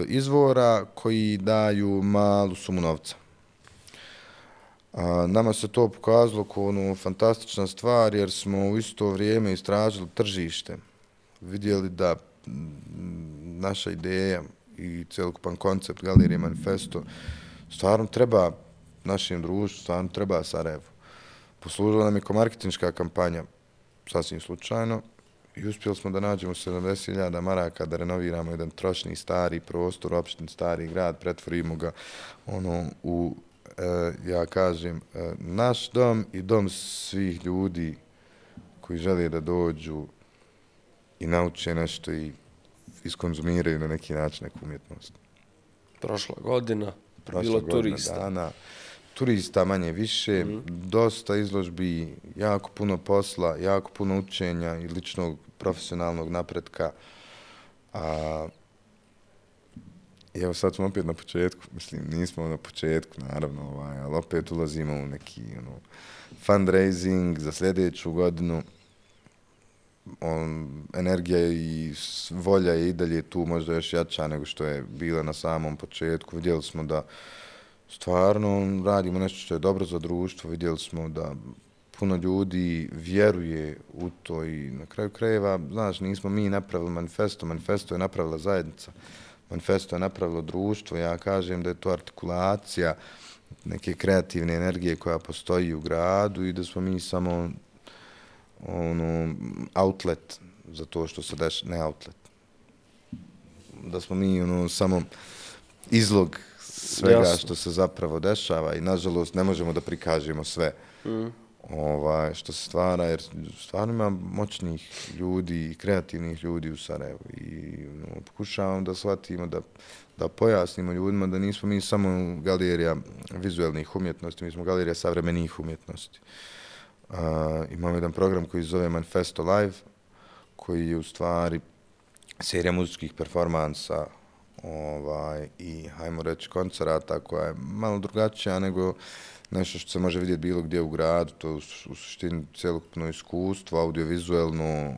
izvora koji daju malu sumu novca. Nama se to pokazalo kao fantastična stvar jer smo u isto vrijeme istražili tržište. Vidjeli da naša ideja i celokupan koncept Galerije Manifesto stvarno treba našem društvu, stvarno treba Sarajevu. Poslužila nam je kao marketinška kampanja, sasvim slučajno, i uspjeli smo da nađemo 70.000 maraka da renoviramo jedan trošni stari prostor, opštini stari grad, pretvorimo ga u, ja kažem, naš dom i dom svih ljudi koji žele da dođu i nauče nešto i iskonzumiraju na neki način neku umjetnost. Prošla godina, bilo turista. Dana, turista manje više, dosta izložbi, jako puno posla, jako puno učenja i ličnog profesionalnog napretka. Evo sad smo opet na početku, mislim nismo na početku naravno, ali opet ulazimo u neki fundraising za sljedeću godinu. Energija i volja je i dalje tu možda još jača nego što je bila na samom početku. Vidjeli smo da stvarno radimo nešto što je dobro za društvo, vidjeli smo da puno ljudi vjeruje u to i na kraju krajeva, znaš, nismo mi napravili manifesto, manifesto je napravila zajednica, manifesto je napravilo društvo, ja kažem da je to artikulacija neke kreativne energije koja postoji u gradu i da smo mi samo outlet za to što se dešava, ne outlet. Da smo mi samo izlog svega što se zapravo dešava i nažalost ne možemo da prikažemo sve. što se stvara, jer stvarno ima moćnih ljudi i kreativnih ljudi u Sarajevu i pokušavamo da shvatimo, da pojasnimo ljudima da nismo mi samo galerija vizualnih umjetnosti, mi smo galerija savremenih umjetnosti. Imamo jedan program koji se zove Manifesto Live, koji je u stvari serija muzičkih performansa i, hajmo reći, koncerata koja je malo drugačija nego nešto što se može vidjeti bilo gdje u gradu, to je u suštini cjelokupno iskustvo, audiovizualno,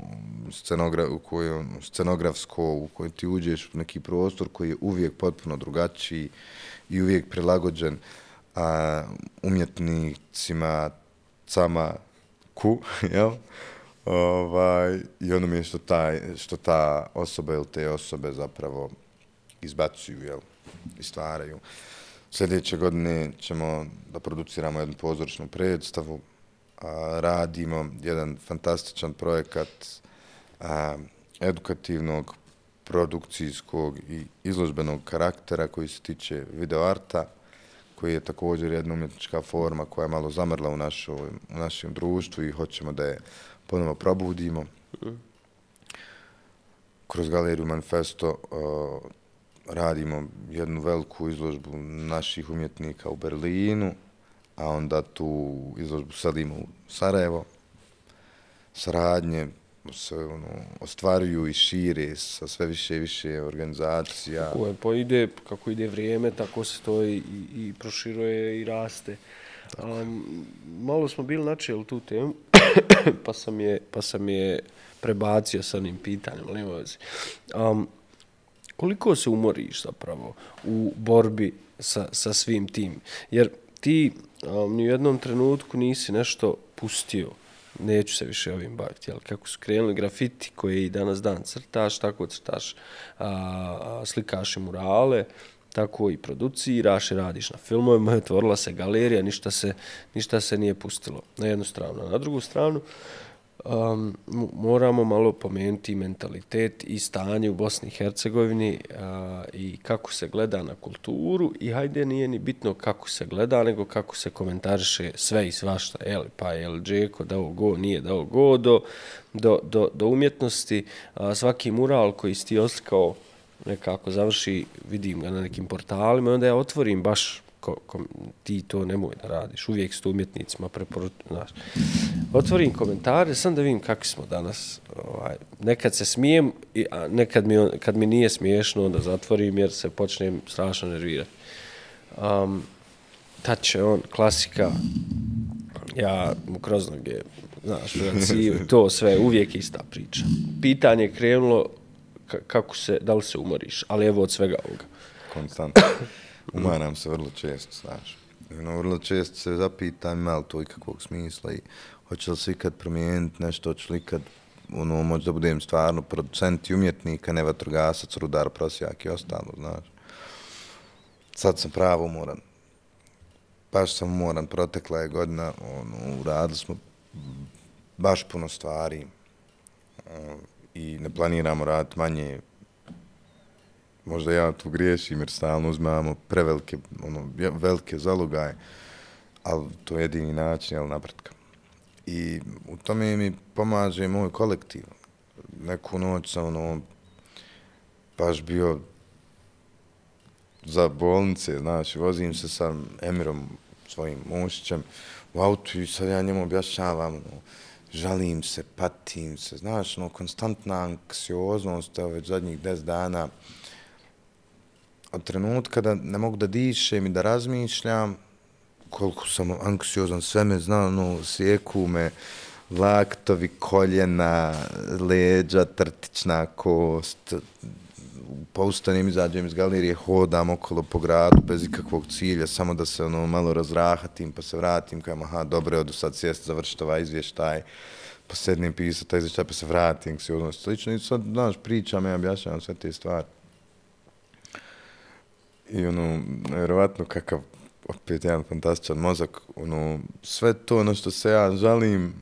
scenografsko, u kojem ti uđeš u neki prostor koji je uvijek potpuno drugačiji i uvijek prilagođen umjetnicima, jel? I ono mi je što ta osoba ili te osobe zapravo izbacuju, jel? I stvaraju. Sljedeće godine ćemo da produciramo jednu pozorišnu predstavu, radimo jedan fantastičan projekat edukativnog, produkcijskog i izložbenog karaktera koji se tiče videoarta, koji je također jedna umjetnička forma koja je malo zamrla u našem društvu i hoćemo da je ponovo probudimo. Kroz galeriju Manifesto radimo jednu veliku izložbu naših umjetnika u Berlinu, a onda tu izložbu selimo u Sarajevo. Saradnje se ostvaruju i šire sa sve više i više organizacija. Kako ide vrijeme, tako se to i proširuje i raste. Malo smo bili načeli tu temu, pa sam je prebacio sa onim pitanjem. Koliko se umoriš zapravo u borbi sa svim tim? Jer ti ni u jednom trenutku nisi nešto pustio, neću se više ovim baviti, jel? Kako su krenuli grafiti koje i danas dan crtaš, tako crtaš, slikaš i murale, tako i produciraš i radiš na filmovima, otvorila se galerija, ništa se nije pustilo na jednu stranu. Na drugu stranu, moramo malo pomenuti mentalitet i stanje u Bosni i Hercegovini i kako se gleda na kulturu i hajde nije ni bitno kako se gleda, nego kako se komentariše sve i svašta, pa je li Džeko dao go, nije dao go, do umjetnosti. Svaki mural koji si ti oslikao nekako završi, vidim ga na nekim portalima i onda ja otvorim baš ti to nemoj da radiš, uvijek s umjetnicima preporučujem. Otvorim komentare, sam da vidim kakvi smo danas. Nekad se smijem, a nekad kad mi nije smiješno, onda zatvorim jer se počnem strašno nervirati. Tad će on, klasika, ja mu kroz noge, znaš, to sve, uvijek ista priča. Pitanje je krenulo da li se umoriš, ali evo od svega ovoga. Konstantno. Umaram se vrlo često, znaš. Vrlo često se zapitam ima li to ikakvog smisla i hoće li se ikad promijeniti nešto, hoće li ikad moći da budem stvarno producent i umjetnik, a ne vatrogasac, rudar, prosjak i ostalo, znaš. Sad sam pravo umoran. Baš sam umoran, protekla je godina, uradili smo baš puno stvari i ne planiramo raditi manje. Možda ja tu griješim jer stalno uzmamo prevelike, velike zalogaje, ali to je jedini način, napretka. I u tome mi pomaže moj kolektiv. Neku noć sam baš bio za bolnice, znaš, vozim se sa Emirom, svojim mušićem, u autu i sad ja njemu objašnjavam, žalim se, patim se, znaš, konstantna anksioznost, već zadnjih 10 dana, od trenutka da ne mogu da dišem i da razmišljam, koliko sam anksiozan, sve me zna, sjeku me, laktovi, koljena, leđa, trtična kost, poustanem, izađem iz galerije, hodam okolo po gradu bez ikakvog cilja, samo da se malo razrahatim, pa se vratim, kajem, aha, dobro, odu sad sjest, završiti ovaj izvještaj, pa sednem pisati taj izvještaj, pa se vratim, anksioznost, slično, i sad, znaš, pričam, ja objašnjavam sve te stvari. I nevjerovatno kakav, opet jedan fantastičan mozak, sve to što se ja žalim,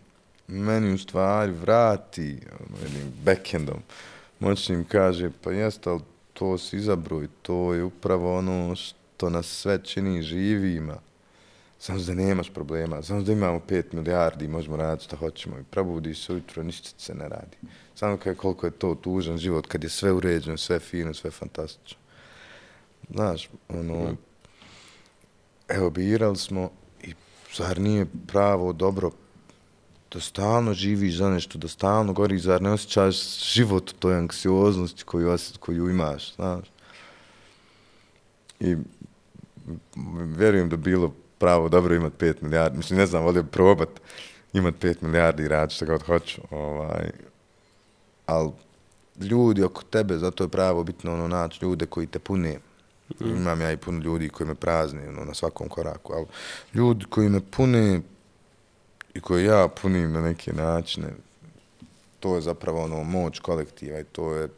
meni u stvari vrati jednim backendom. Moćnim kaže, pa jeste, ali to si izabro i to je upravo ono što nas sve čini živima. samo da nemaš problema, samo da imamo 5 milijardi i možemo raditi što hoćemo i probudiš se ujutro, ništa se ne radi. Samo koliko je to tužan život kad je sve uređeno, sve fino, sve fantastično. Znaš, evo, birali smo i zar nije pravo dobro da stalno živiš za nešto, da stalno goriš, zar ne osjećaš život u toj anksioznosti koju imaš, znaš. I vjerujem da bilo pravo dobro imati 5 milijardi, mislim, ne znam, volio bi probat imati 5 milijardi i raditi što god hoću, ali ljudi oko tebe, zato je pravo bitno naći ljude koji te pune. Imam ja i puno ljudi koji me prazne na svakom koraku, ali ljudi koji me pune i koji ja punim na neke načine, to je zapravo moć kolektiva i to je,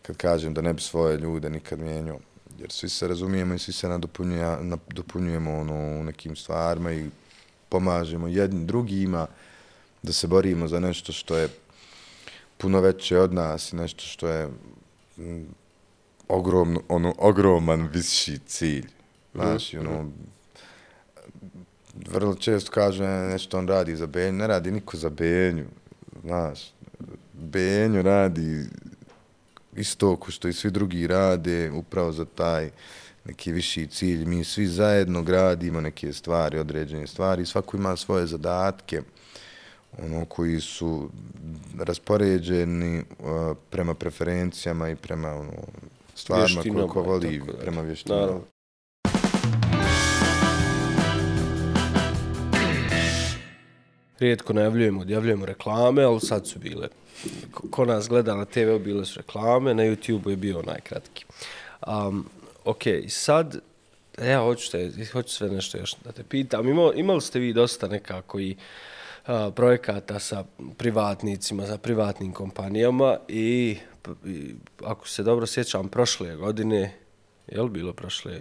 kad kažem da ne bi svoje ljude nikad mijenjao, jer svi se razumijemo i svi se nadopunjujemo u nekim stvarima i pomažemo jedni drugima da se borimo za nešto što je puno veće od nas i nešto što je ogroman viši cilj. Znaš, vrlo često kažu nešto on radi za Benju, ne radi niko za Benju, znaš. Benju radi isto ko što i svi drugi rade, upravo za taj neki viši cilj. Mi svi zajedno gradimo neke stvari, određene stvari, svako ima svoje zadatke, koji su raspoređeni prema preferencijama i prema stvarima koje ko voli, prema vještinama. Rijetko odjavljujemo reklame, ali sad su bile. Ko nas gleda na TV, bile su reklame, na YouTube je bio najkratki. Ok, sad, ja hoću sve nešto još da te pitam. Imali ste vi dosta nekako i projekata sa privatnicima, sa privatnim kompanijama i ako se dobro sjećam, prošle godine, je li bilo prošle,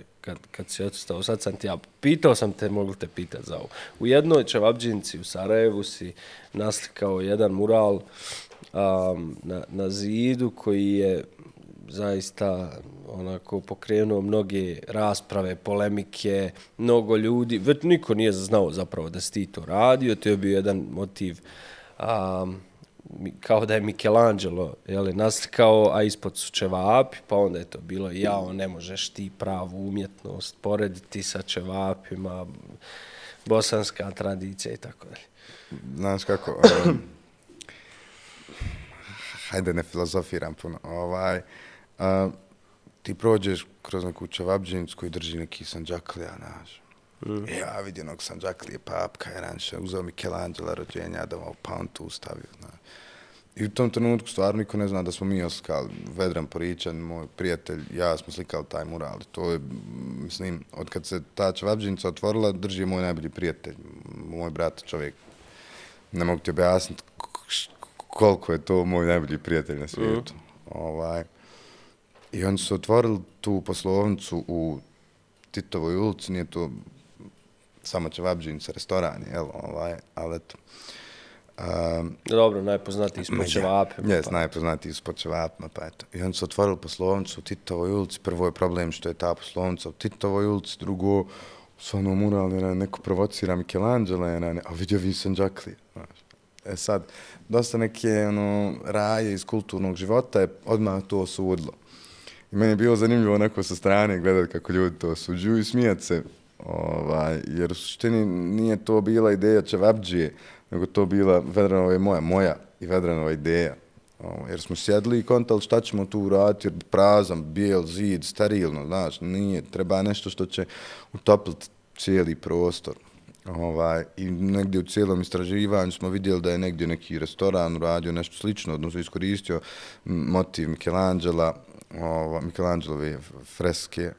kad si odstao, sad sam ti pitao sam te, mogu te pitati za ovo. U jednoj čevabdžinci u Sarajevu si naslikao jedan mural na zidu koji je zaista onako pokrenuo mnoge rasprave, polemike, mnogo ljudi, već niko nije znao zapravo da si ti to radio, to je bio jedan motiv kao da je Michelangelo naslikao, a ispod su čevapi, pa onda je to bilo ne možeš ti pravu umjetnost porediti sa čevapima, bosanska tradicija i tako dalje. Znaš kako, hajde ne filozofiram puno, ti prođeš kroz neku čevabdžinicu koji drži neki Sanđaklija, znaš. Ja vidim onog Sanđaklije, papka je ranše, uzeo Michelangela rođenja, pa on tu stavio, znaš. I u tom trenutku stvarno niko ne zna da smo mi oslikali. Vedran Poričan, moj prijatelj, ja smo slikali taj mural. To je, mislim, od kad se ta čevabdžinica otvorila, drži moj najbolji prijatelj, moj brat, čovjek. Ne mogu ti objasniti koliko je to moj najbolji prijatelj na svijetu. I oni su otvorili tu poslovnicu u Titovoj ulici, nije to samo čevabdžinica, restoran, ali eto. Dobro, najpoznatiji ispod čevapima. Jes, najpoznatiji ispod čevapima, pa eto. I oni su otvorili poslovnicu u Titovoj ulici. Prvo je problem što je ta poslovnica u Titovoj ulici, drugo, stvarno mural, neko provocira Michelangela, a vidio vi Sanđaklije. Sad, dosta neke raje iz kulturnog života je odmah to osudilo. I meni je bilo zanimljivo onako sa strane gledati kako ljudi to osuđuju i smijati se, jer u suštini nije to bila ideja čevabdžije, nego to bila Vedranova je moja i Vedranova ideja. Jer smo sjedli i kontali šta ćemo tu uraditi, jer prazan, bijel, zid, sterilno, znaš, nije, treba nešto što će utopliti cijeli prostor. I negdje u cijelom istraživanju smo vidjeli da je negdje neki restoran uradio nešto slično, odnosno iskoristio motiv Michelangelove freske,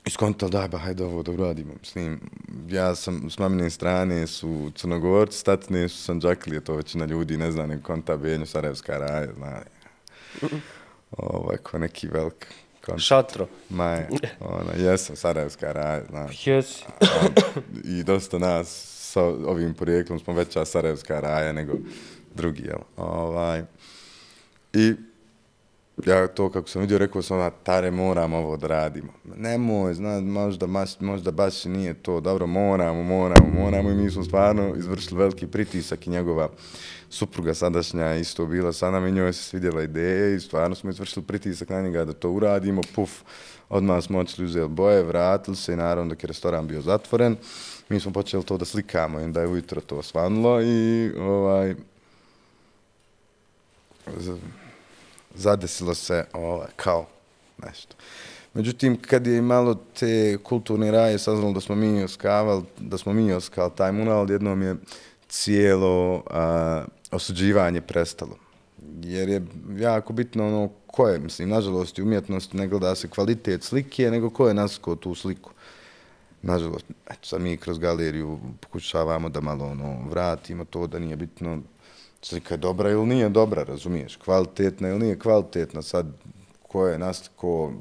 iskontali da, hajde ovo da uradimo. Mislim, ja sam s mamine strane su Crnogorci, statine su Sanđaklije, to većina ljudi ne zna, nego konta Benju, Sarajevska raja, zna. Ko neki velik konta. Šatro. Maje, jesam Sarajevska raja, znaš. Jesi. I dosta nas sa ovim porijeklom smo veća Sarajevska raja nego drugi, jel? I Ja to kako sam vidio, rekao sam, Tare, moramo ovo da radimo. Nemoj, možda baš nije to, dobro, moramo i mi smo stvarno izvršili veliki pritisak i njegova supruga sadašnja isto bila sa nama i njoj se svidjela ideja i stvarno smo izvršili pritisak na njega da to uradimo, odmah smo otišli, uzeli boje, vratili se i naravno dok je restoran bio zatvoren, mi smo počeli to da slikamo i onda je ujutro to osvanulo i zadesilo se kao nešto. Međutim, kad je malo te kulturne raje saznalo da smo mi oskali taj mural, jednom je cijelo osuđivanje prestalo. Jer je jako bitno ko je, mislim, nažalost, i umjetnost ne gleda se kvalitet slike, nego ko je naskao tu sliku. Nažalost, sad mi kroz galeriju pokušavamo da malo vratimo to, da nije bitno slika je dobra ili nije dobra, razumiješ, kvalitetna ili nije kvalitetna, sad ko je naskao,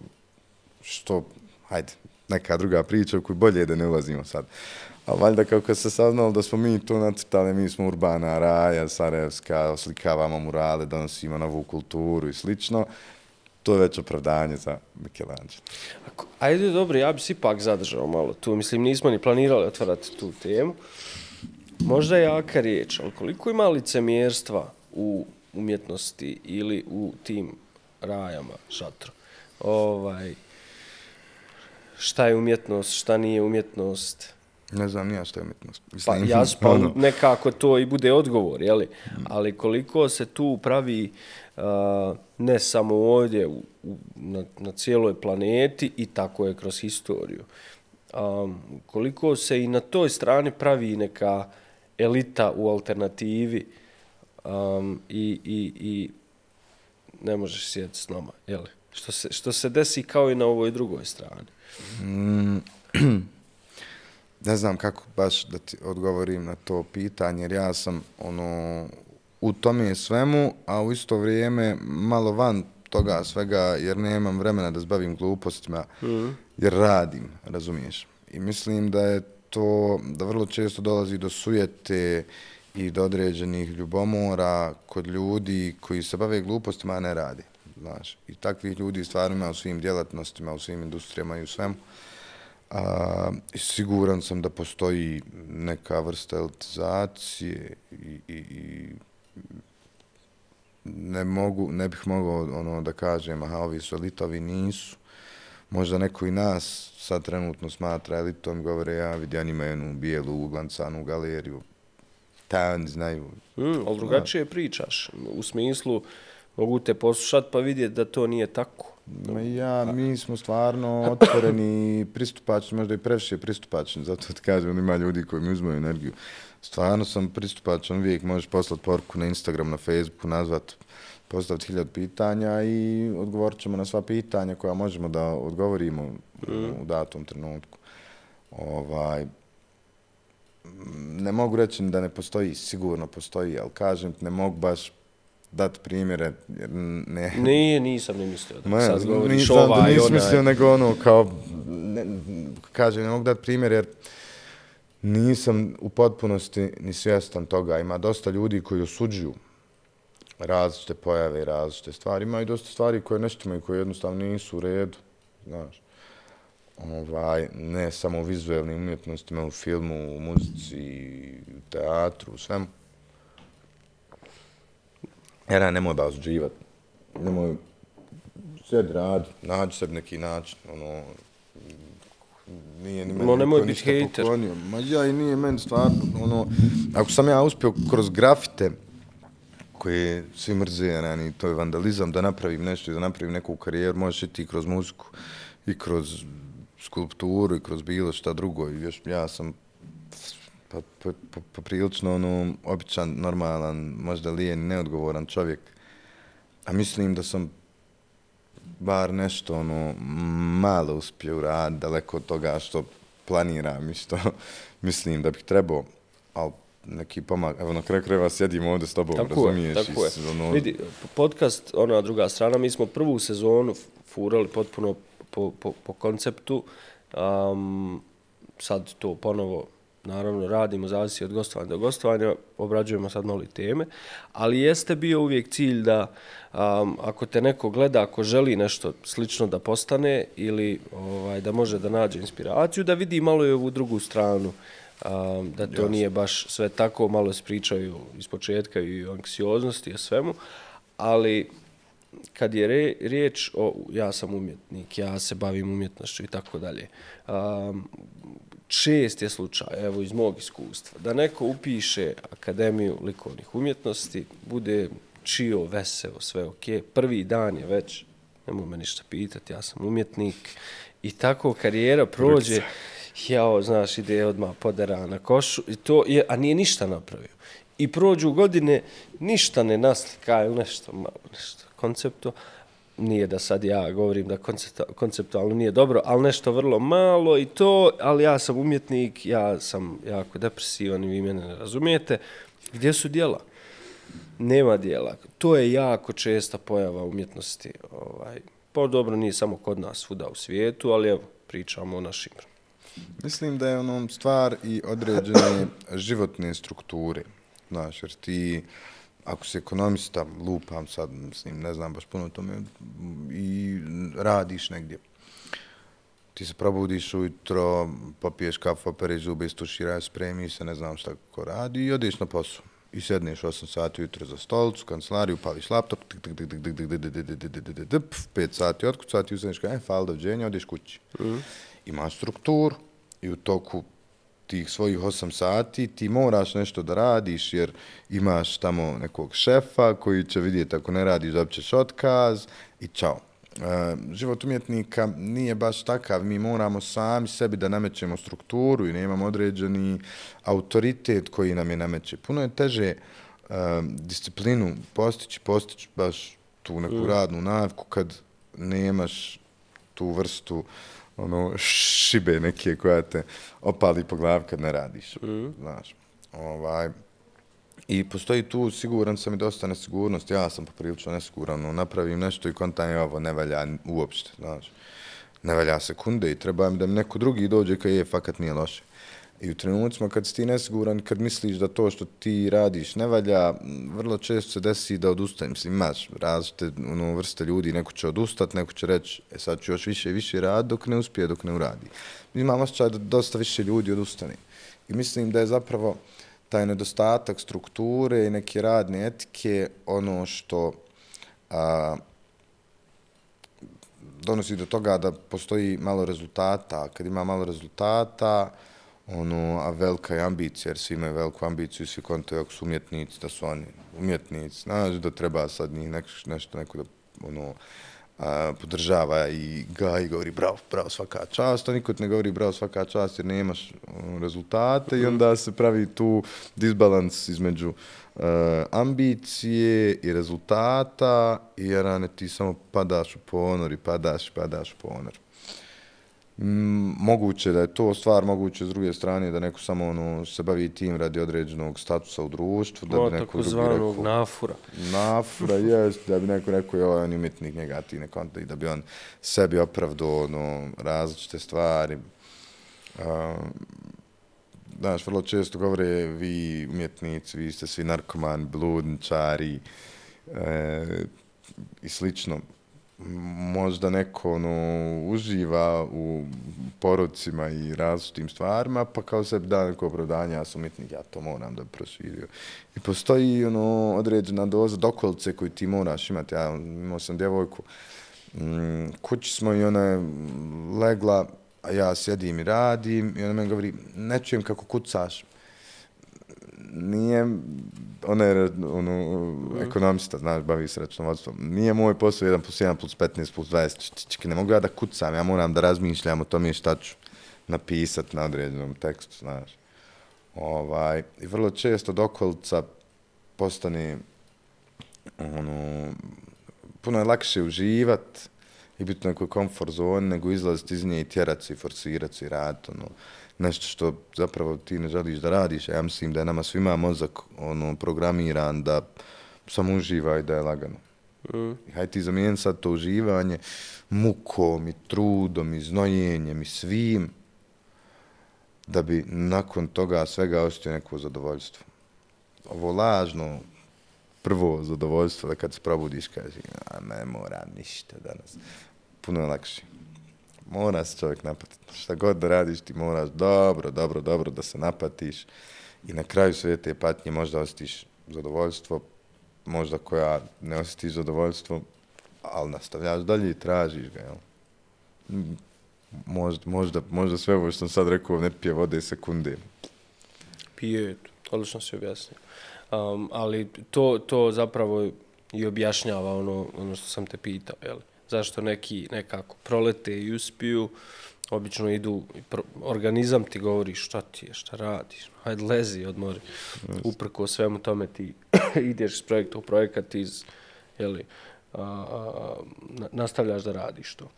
što, hajde, neka druga priča u koju bolje je da ne ulazimo sad. A valjda kako se saznalo da smo mi to nacrtali, mi smo urbana raja, sarajevska, oslikavamo murale, donosimo novu kulturu i slično, to je već opravdanje za Michelangelo. Ajde, dobro, ja bi se ipak zadržao malo tu. Mislim, nismo ni planirali otvarati tu temu. Možda je jaka riječ, ali koliko ima licemjerstva u umjetnosti ili u tim rajama, šatru? Šta je umjetnost, šta nije umjetnost? Ne znam nija šta je umjetnost. Pa nekako to i bude odgovor, jeli? Ali koliko se tu pravi ne samo ovdje, na cijeloj planeti i tako je kroz historiju. Koliko se i na toj strani pravi neka elita u alternativi i ne možeš sjediti s nama, jeli? Što se desi kao i na ovoj drugoj strani. Ne znam kako baš da ti odgovorim na to pitanje, jer ja sam u tome svemu, a u isto vrijeme malo van toga svega, jer nemam vremena da se bavim glupostima, jer radim, razumiješ. I mislim da je to, da vrlo često dolazi do sujete i do određenih ljubomora kod ljudi koji se bave glupostima, a ne radi. Znaš. I takvih ljudi stvarno ima u svim djelatnostima, u svim industrijama i u svemu. Siguran sam da postoji neka vrsta elitizacije i ne bih mogao da kažem, ovi su elita, ovi nisu. Možda neko i nas sad trenutno smatra elitom, govore, ja vidi, oni imaju jednu bijelu uglancanu galeriju, oni znaju. Ali drugačije pričaš, u smislu mogu te poslušati pa vidjeti da to nije tako. Mi smo stvarno otvoreni i pristupačni, možda i previše pristupačni, zato ti kažem, ima ljudi koji mi uzmaju energiju. Stvarno sam pristupačan, uvijek možeš poslati poruku na Instagram, na Facebooku, postaviti 1000 pitanja i odgovorit ćemo na sva pitanja koja možemo da odgovorimo u datom trenutku. Ne mogu reći da ne postoji, sigurno postoji, ali kažem, ne mogu baš dati primjere, jer ne... Nisam ni mislio da sad govoriš ovaj. Nisam mislio, nego kao, kažem, ne mogu dati primjer, jer nisam u potpunosti ni svjestan toga. Ima dosta ljudi koji osuđuju različite pojave i različite stvari. Ima i dosta stvari koje neštima i koje jednostavno nisu u redu, znaš. Ne samo u vizualnim umjetnostima, u filmu, u muzici, u teatru, u svemu. Jer nemoj ba osuđivati. Nemoj sjedi radi, nađi sebi neki način. Nije ni meni nemoj biti hejter. Ma ja i nije meni stvarno. Ako sam ja uspio kroz grafite, koje svi mrze, to je vandalizam, da napravim nešto i da napravim neku karijeru, možeš i ti kroz muziku i kroz skulpturu i kroz bilo šta drugo. Ja sam poprilično običan, normalan, možda lijen, neodgovoran čovjek. A mislim da sam bar nešto malo uspio uraditi, daleko od toga što planiram i što mislim da bih trebao, ali neki pomak. Evo, na kraju krajeva sjedim ovdje s tobom, razumiješ? Tako je. Vidi, podcast, ona druga strana, mi smo prvu sezonu furali potpuno po konceptu. Sad to ponovo naravno radimo, zavisi od gostovanja do gostovanja, obrađujemo sad malo teme, ali jeste bio uvijek cilj da ako te neko gleda, ako želi nešto slično da postane ili da može da nađe inspiraciju, da vidi malo i ovu drugu stranu, da to nije baš sve tako, malo se pričaju iz početka i o anksioznosti i o svemu, ali kad je riječ o ja sam umjetnik, ja se bavim umjetnošću i tako dalje, čest je slučaj, evo iz mog iskustva, da neko upiše Akademiju likovnih umjetnosti, bude čio, veseo, sve ok, prvi dan je već, nemoj me ništa pitati, ja sam umjetnik i tako karijera prođe, znaš, ide odmah podera na košu, i to je, a nije ništa napravio. I prođu godine, ništa ne naslika ili nešto koncepto. Nije da sad ja govorim da konceptualno nije dobro, ali nešto vrlo malo i to, ali ja sam umjetnik, ja sam jako depresivan i vi mene ne razumijete. Gdje su djela? Nema djela. To je jako česta pojava umjetnosti. Pa dobro, nije samo kod nas svuda u svijetu, ali evo, pričamo o našim. Mislim da je stvar i određene životne strukture. Znaš, jer ti, ako si ekonomista, lupam sad, mislim, ne znam baš puno o tome, i radiš negdje. Ti se probudiš ujutro, popiješ kafu, operiš zube, istuširaš, spremiš se, ne znam šta kako radi i odeš na posao. I sedneš 8 sati ujutro za stolicu, kancelariju, pališ laptop, 5 sati otkucati i ustaneš kao, hvala doviđenja, odeš kući. Imaš strukturu i u toku tih svojih 8 sati ti moraš nešto da radiš jer imaš tamo nekog šefa koji će vidjeti ako ne radiš da ćeš otkaz i čao. Život umjetnika nije baš takav, mi moramo sami sebi da namećemo strukturu i nemamo određeni autoritet koji nam je nameće. Puno je teže disciplinu postići baš tu neku radnu naviku kad nemaš tu vrstu šibe neke koja te opali po glavi kad ne radiš. Znaš. I postoji tu, siguran sam, i dosta nesigurnost. Ja sam poprilično nesiguran, napravim nešto i kontam ovo ne valja uopšte. Znaš. Ne valja sekunde i treba mi da mi neko drugi dođe kad je fakat nije loše. I u trenucima kad si ti nesiguran, kad misliš da to što ti radiš ne valja, vrlo često se desi da odustajem. Mislim, imaš različite vrste ljudi, neko će odustati, neko će reći, sad ću još više i više raditi dok ne uspije, dok ne uradi. Imam osjećaj da dosta više ljudi odustane. I mislim da je zapravo taj nedostatak strukture i neke radne etike ono što donosi do toga da postoji malo rezultata. Kad ima malo rezultata, a velika je ambicija, jer svi imaju veliku ambiciju i svi kontuju ako su umjetnici, da su oni umjetnici. Znaš da treba sad njih nešto neko da podržava i govori bravo svaka čast, a niko ne govori bravo svaka čast jer nemaš rezultate i onda se pravi tu disbalans između ambicije i rezultata i jer ti samo padaš u ponor i padaš u ponor. Moguće da je to stvar, moguće s druge strane da neko samo se bavi tim radi određenog statusa u društvu. Da bi neko drugi rekao, nafura. Nafura, jest, da bi neko rekao, on je umjetnik, njega ti ne konta i da bi on sebi opravdao različite stvari. Znaš, vrlo često govore vi umjetnici, vi ste svi narkomani, bludničari i slično. Možda neko uživa u porocima i različitim stvarima, pa kao sebi da neko opravdanje, ja sam umjetnik, ja to moram da bi proširio. I postoji određena doza dokolice koju ti moraš imati. Ja imao sam djevojku, kući smo i ona je legla, a ja sjedim i radim i ona meni govori, ne čujem kako kucaš. Nije, ona je ekonomista, znaš, bavi se računovodstvom. Nije moj posao 1+1+15+20, ne mogu ja da kucam, ja moram da razmišljam o tome šta ću napisati na određenom tekstu, znaš. I vrlo često dokolica postane, puno je lakše uživati i biti u nekoj komfort zoni nego izlaziti iz nje i tjerati se i forsirati se i raditi, nešto što zapravo ti ne želiš da radiš, a ja mislim da je nama svima mozak programiran da samo uživa i da je lagano. I hajde ti zamijeni sad to uživanje mukom i trudom i znojenjem i svim da bi nakon toga svega osjetio neko zadovoljstvo. Ovo lažno prvo zadovoljstvo da kad se probudiš kaže ne moram ništa danas. Puno je lakše. Mora se čovjek napatiti. Šta god da radiš ti moraš dobro da se napatiš i na kraju sve te patnje možda osjetiš zadovoljstvo, možda koja ne osjetiš zadovoljstvo, ali nastavljaš dalje i tražiš ga. Jel? Možda sve ovo što sam sad rekao ne pije vode sekunde. Pije, odlično si objasnio. Ali to zapravo i objašnjava ono što sam te pitao. Jel? Zašto neki nekako prolete i uspiju, obično idu, organizam ti govori šta ti je, šta radiš, hajde lezi, odmori. Uprko svemu tome ti ideš iz projekta u projekat, nastavljaš da radiš to.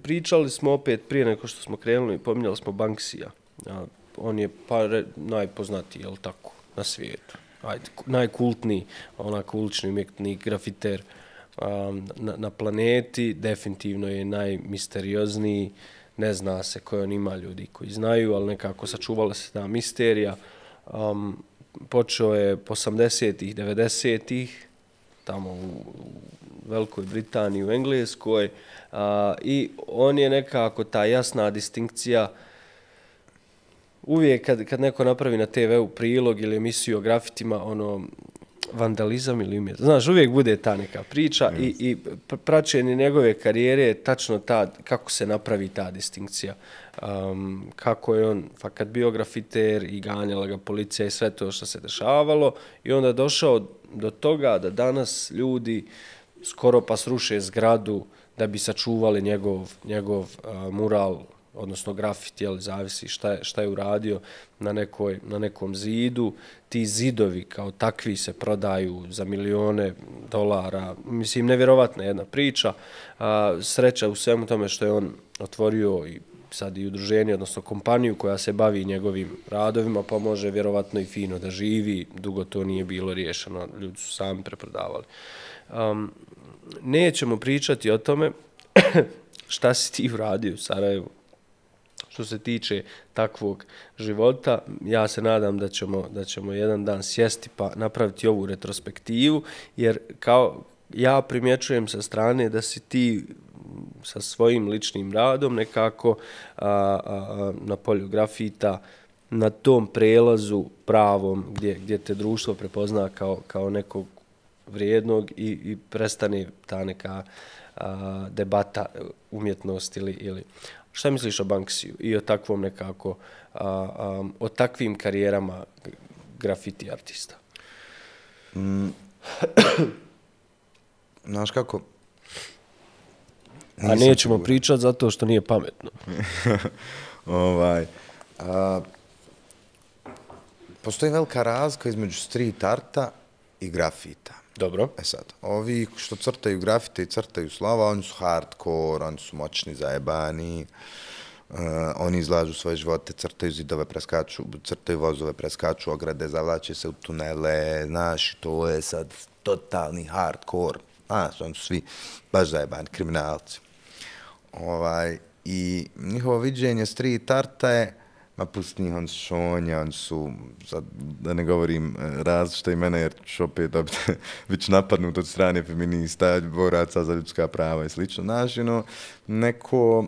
Pričali smo opet prije nego što smo krenuli, pominjali smo Banksija. On je najpoznatiji, jel tako, na svijetu. Najkultniji, onak ulični umjetnik, grafiter na planeti, definitivno je najmisteriozniji, ne zna se koje on ima, ljudi koji znaju, ali nekako sačuvala se ta misterija. Počeo je po 80-ih, 90-ih, tamo u Velikoj Britaniji, u Engleskoj, i on je nekako ta jasna distinkcija. Uvijek kad neko napravi na TV-u prilog ili emisiju o grafitima, vandalizam ili umjetnost. Znaš, uvijek bude ta neka priča i praćenje njegove karijere je tačno kako se napravi ta distinkcija. Kako je on fakat bio grafiter i ganjala ga policija i sve to što se dešavalo i onda je došao do toga da danas ljudi skoro pa sruše zgradu da bi sačuvali njegov mural, odnosno grafit, zavisi šta je uradio na nekom zidu. Ti zidovi kao takvi se prodaju za milione dolara. Mislim, nevjerovatna jedna priča. Sreća u svemu tome što je on otvorio i sad i udruženje, odnosno kompaniju koja se bavi njegovim radovima, pa može vjerovatno i fino da živi. Dugo to nije bilo riješeno, ljudi su sami preprodavali. Nećemo pričati o tome šta si ti uradio u Sarajevu. Što se tiče takvog života, ja se nadam da ćemo jedan dan sjesti pa napraviti ovu retrospektivu, jer kao ja primjećujem sa strane da si ti sa svojim ličnim radom nekako na polju grafita, na tom prelazu pravom gdje te društvo prepozna kao nekog vrijednog i prestane ta neka debata umjetnosti ili šta misliš o Banksiju i o takvom nekako, o takvim karijerama grafiti artista? Znaš kako? A nećemo pričati zato što nije pametno. Postoji velika razlika između street arta i grafita. Dobro. Sad, ovi što crtaju grafite i crtaju slova, oni su hardcore, oni su moćni, zajebani, oni izlažu svoje živote, crtaju zidove, crtaju vozove, preskaču ograde, zavlače se u tunele, znaš, to je sad totalni hardcore, znaš, oni su svi baš zajebani, kriminalci. I njihovo viđenje street arta je, ma pusti njih, oni su šonja, oni su, sad, da ne govorim različite imena, jer ću opet biti napadnut od strane feminista, boraca za ljudska prava i slično. Znaš, neko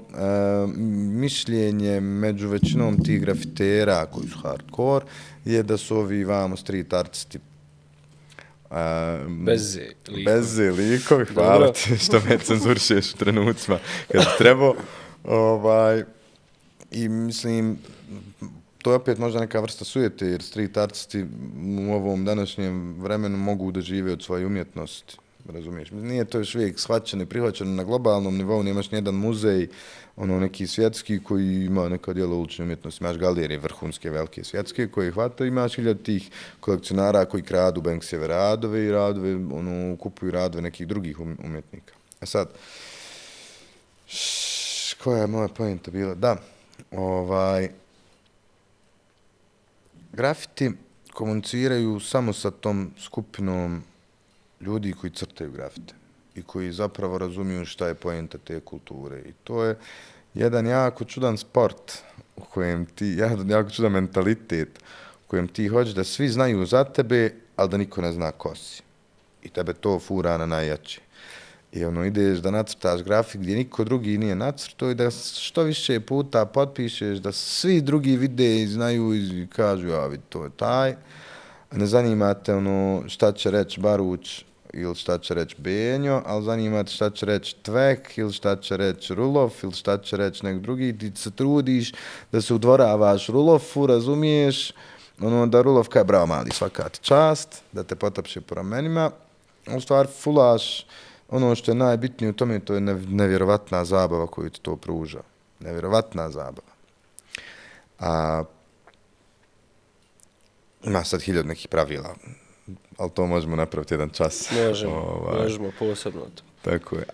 mišljenje među većinom tih grafitera koji su hardcore je da su ovi vamo street artisti Bezze likovi, hvala ti što me cenzurišeš u trenucima kad trebao. I mislim, to je opet možda neka vrsta sujete, jer street artisti u ovom današnjem vremenu mogu da žive od svoje umjetnosti, razumiješ? Nije to još uvijek shvaćeno i prihvaćeno na globalnom nivou, nemaš nijedan muzej, neki svjetski koji ima neka djela ulične umjetnosti, imaš galerije vrhunske, velike svjetske koje hvata, imaš 1000 tih kolekcionara koji kradu Banksijeve radove i radove, kupuju radove nekih drugih umjetnika. A sad, koja je moja pojenta bila? Da, grafiti komuniciraju samo sa tom skupinom ljudi koji crtaju grafite i koji zapravo razumiju šta je pojenta te kulture. I to je jedan jako čudan sport u kojem ti, jako čudan mentalitet, u kojem ti hoćeš da svi znaju za tebe, ali da niko ne zna ko si. I tebe to fura na najjače. I ideš da nacrtaš grafik gdje niko drugi nije nacrtao i da što više puta potpišeš, da svi drugi vide i znaju i kažu, ja vidi, to je taj. Ne zanimate šta će reći Baruć ili šta će reći Benjo, ali zanimate šta će reći Tvek ili šta će reći Rulov ili šta će reći nek drugi. Ti se trudiš da se udvoravaš Rulovu, razumiješ, da Rulov kaj bravo mali, svaka ti čast, da te potapše po ramenima. U stvari fulaš ono što je najbitnije u tome, to je nevjerovatna zabava koju ti to pruža. Nevjerovatna zabava. Ima sad 1000 nekih pravila, ali to možemo napraviti jedan čas. Možemo posebno to. Tako je.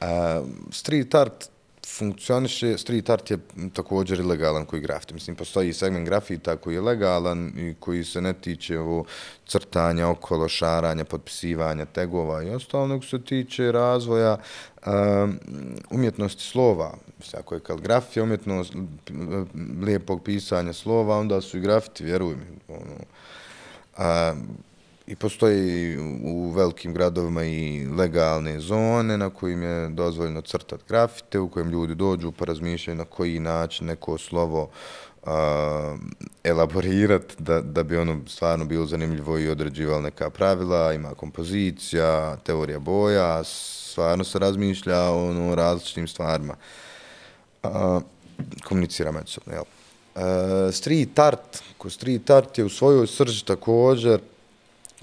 Street art funkcioniše, street art je također ilegalan koji grafiti. Mislim, postoji segment grafita koji je legalan i koji se ne tiče crtanja okolo, šaranja, potpisivanja, tegova i ostalo, nego se tiče razvoja umjetnosti slova. Mislim, ako je kaligrafija umjetnost lijepog pisanja slova, onda su i grafiti, vjeruj mi. I postoji u velikim gradovima i legalne zone na kojim je dozvoljeno crtati grafite, u kojem ljudi dođu pa razmišljaju na koji način neko slovo elaborirati da bi ono stvarno bilo zanimljivo i određivalo neka pravila, ima kompozicija, teorija boja, stvarno se razmišlja o različitim stvarima. Komunicira međusobno, jel? Street art je u svojoj srži također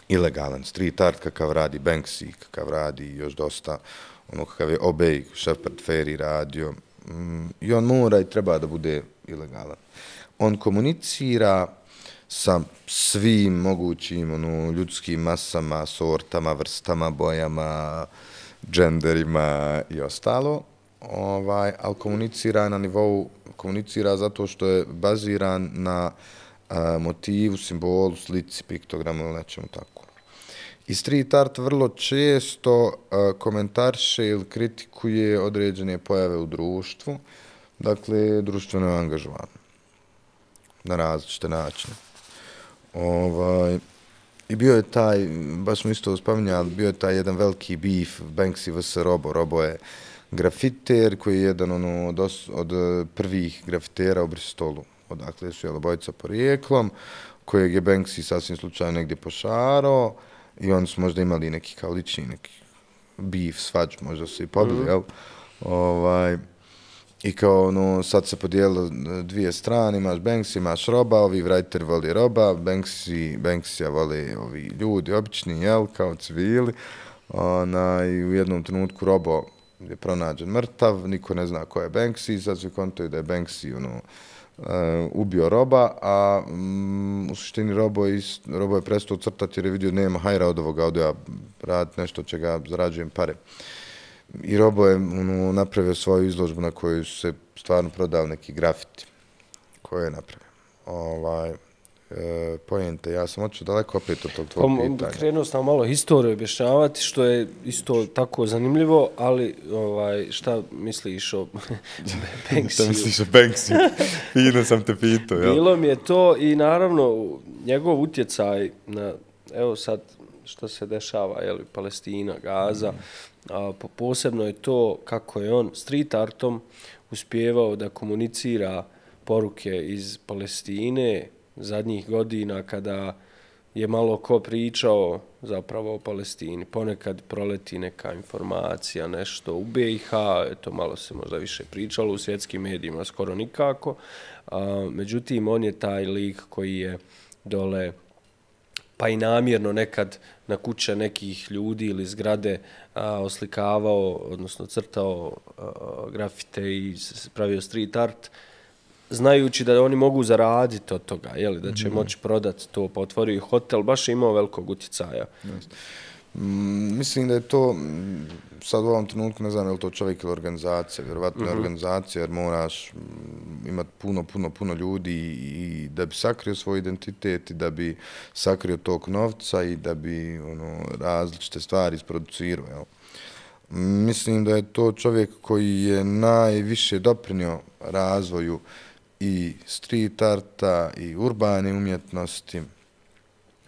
ilegalan. Street art kakav radi Banksy, kakav radi još dosta, kakav je Obey, Shepard Fairey radio, i on mora i treba da bude ilegalan. On komunicira sa svim mogućim ljudskim masama, sortama, vrstama, bojama, dženderima i ostalo, ali komunicira na nivou, komunicira zato što je baziran na motivu, simbolu, slici, piktogramu ili nečemu tako. I street art vrlo često komentariše ili kritikuje određene pojave u društvu, dakle, društveno je angažovan na različite načine. I bio je taj, baš smo isto spominjali, bio je taj jedan veliki beef Banksy vs. Robo. Robo je grafiter koji je jedan od prvih grafitera u Bristolu. Odakle su obojica porijeklom, kojeg je Banksy sasvim slučajno negdje pošarao i oni su možda imali neki kao lični neki beef, svađu, možda su i pobili, jel? I kao sad se podijelo dvije strane, imaš Banksy, imaš Roba, ovi writer voli Roba, Banksy vole ovi ljudi obični, jel, kao civili. I u jednom trenutku Robo je pronađen mrtav, niko ne zna ko je Banksy, sad se kontaju da je Banksy ubio Roba, a u suštini Robo je prestao crtati jer je vidio nema hajra od ovoga, od ja raditi nešto čega zarađujem pare. I Robo je napravio svoju izložbu na koju su se stvarno prodali neki grafiti koje je napravio. Pojente, ja sam očeo daleko opet od tog tvojeg pitanja. Krenuo sam malo historiju objašnjavati, što je isto tako zanimljivo, ali šta misliš o Banksy? Šta misliš o Banksy? Fino sam te pitao. Bilo mi je to i naravno njegov utjecaj na, evo sad što se dešava, Palestina, Gaza, posebno je to kako je on street artom uspijevao da komunicira poruke iz Palestine zadnjih godina kada je malo ko pričao zapravo o Palestini. Ponekad proleti neka informacija, nešto u BiH, to malo se možda više pričalo, u svjetskim medijima skoro nikako. Međutim, on je taj lik koji je dole, pa i namjerno nekad na kuće nekih ljudi ili zgrade oslikavao, odnosno crtao grafite i pravio street art, znajući da oni mogu zaraditi od toga, da će moći prodati to, pa otvorio i hotel, baš je imao velikog utjecaja. Mislim da je to, sad u ovom trenutku ne znam je li to čovjek ili organizacija, vjerovatno je organizacija jer moraš imati puno ljudi i da bi sakrio svoj identitet i da bi sakrio tog novca i da bi različite stvari isproducirao. Mislim da je to čovjek koji je najviše doprinio razvoju i street arta i urbane umjetnosti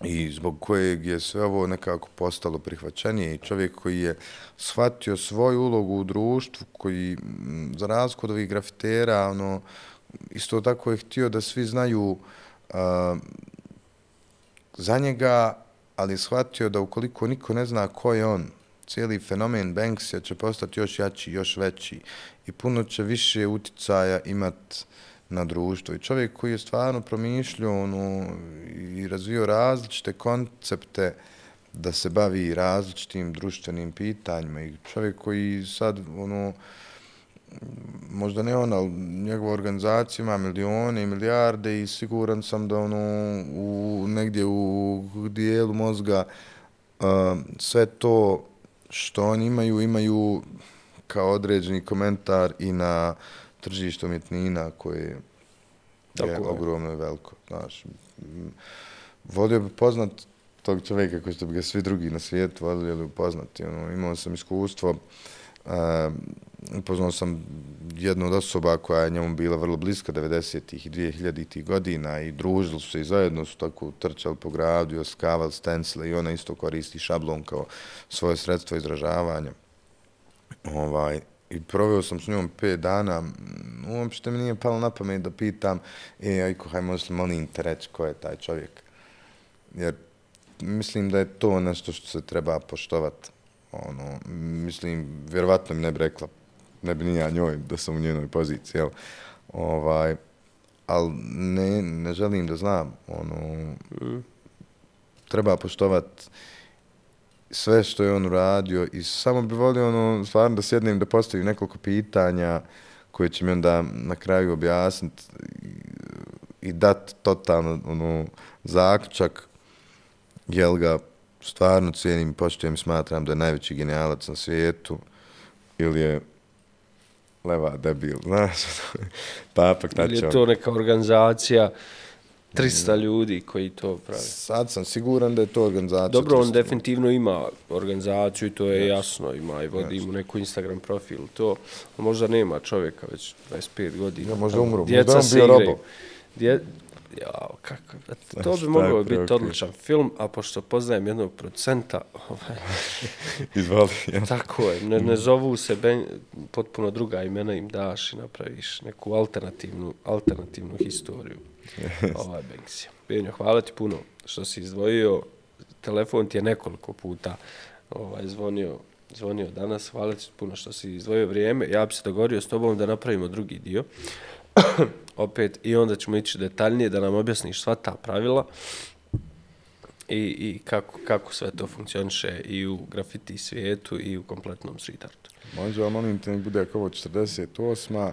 i zbog kojeg je sve ovo nekako postalo prihvaćenije i čovjek koji je shvatio svoju ulogu u društvu, koji za razliku od ovih grafitera, isto tako je htio da svi znaju za njega, ali je shvatio da ukoliko niko ne zna ko je on, cijeli fenomen Banksija će postati još jači, još veći i puno će više uticaja imati na društvo. I čovjek koji je stvarno promišljao i razvio različite koncepte da se bavi različitim društvenim pitanjima i čovjek koji sad, možda ne on, ali njegova organizacija ima milijone i milijarde i siguran sam da negdje u dijelu mozga sve to što oni imaju kao određeni komentar i na tržište umjetnina koje je ogromno i veliko. Znaš, volio bi poznat tog čovjeka koji što bi ga svi drugi na svijetu voljeli upoznati. Imao sam iskustvo, upoznao sam jednu od osoba koja je njemu bila vrlo bliska 90-ih i 2000-ih godina i družili su se i zajedno su tako trčali po gradu i oskavali stencile i ona isto koristi šablon kao svoje sredstvo izražavanja. I proveo sam s njom 5 dana, uopšte mi nije palo na pamet da pitam, Ajko, haj možeš li molim te reći ko je taj čovjek? Jer mislim da je to nešto što se treba poštovati. Mislim, vjerovatno mi ne bi rekla, ne bi ni ja njoj da sam u njenoj poziciji, jel? Ali ne želim da znam, treba poštovati sve što je on uradio i samo bi volio stvarno da sjednem da postavim nekoliko pitanja koje će mi onda na kraju objasniti i dati totalno zaključak, jel ga stvarno cijenim i poštujem i smatram da je najveći genijalac na svijetu ili je leva debil, znaš, papak tačan. Ili je to neka organizacija 300 ljudi koji to pravi. Sad sam siguran da je to organizacija. Dobro, on definitivno ima organizaciju i to je jasno, ima i vodi mu neku Instagram profil. To možda nema čovjeka već 25 godina. Ja, možda umro, možda on bio robo. Kako? To bi mogao biti odličan film, a pošto poznajem jednog producenta, izvali. Tako je, ne zovu se potpuno druga imena im daš i napraviš neku alternativnu historiju. Banksija. Benjo, hvala ti puno što si izdvojio. Telefon ti je nekoliko puta zvonio danas. Hvala ti puno što si izdvojio vrijeme. Ja bi se dogovorio s tobom da napravimo drugi dio. Opet, i onda ćemo ići detaljnije da nam objasniš sva ta pravila i kako sve to funkcioniše i u grafiti svijetu i u kompletnom street artu. Može, ali molim te, bude ako ovo 48.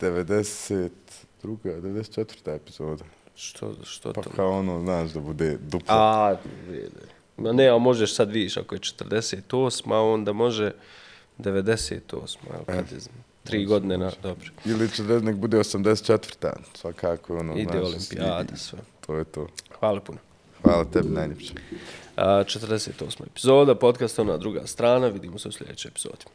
92. 94. epizoda. Što pa to? Pa kao znaš, da bude duplo. Ma ne, a možeš sad vidiš, ako je 48. onda može 98. Kad je 3 godine na dobro. Ili nek bude 84. Svakako, ide olimpijada, sve. To je to. Hvala puno. Hvala tebi, najljepše. 48. epizoda, podcast Ona druga strana. Vidimo se u sljedećoj epizodi.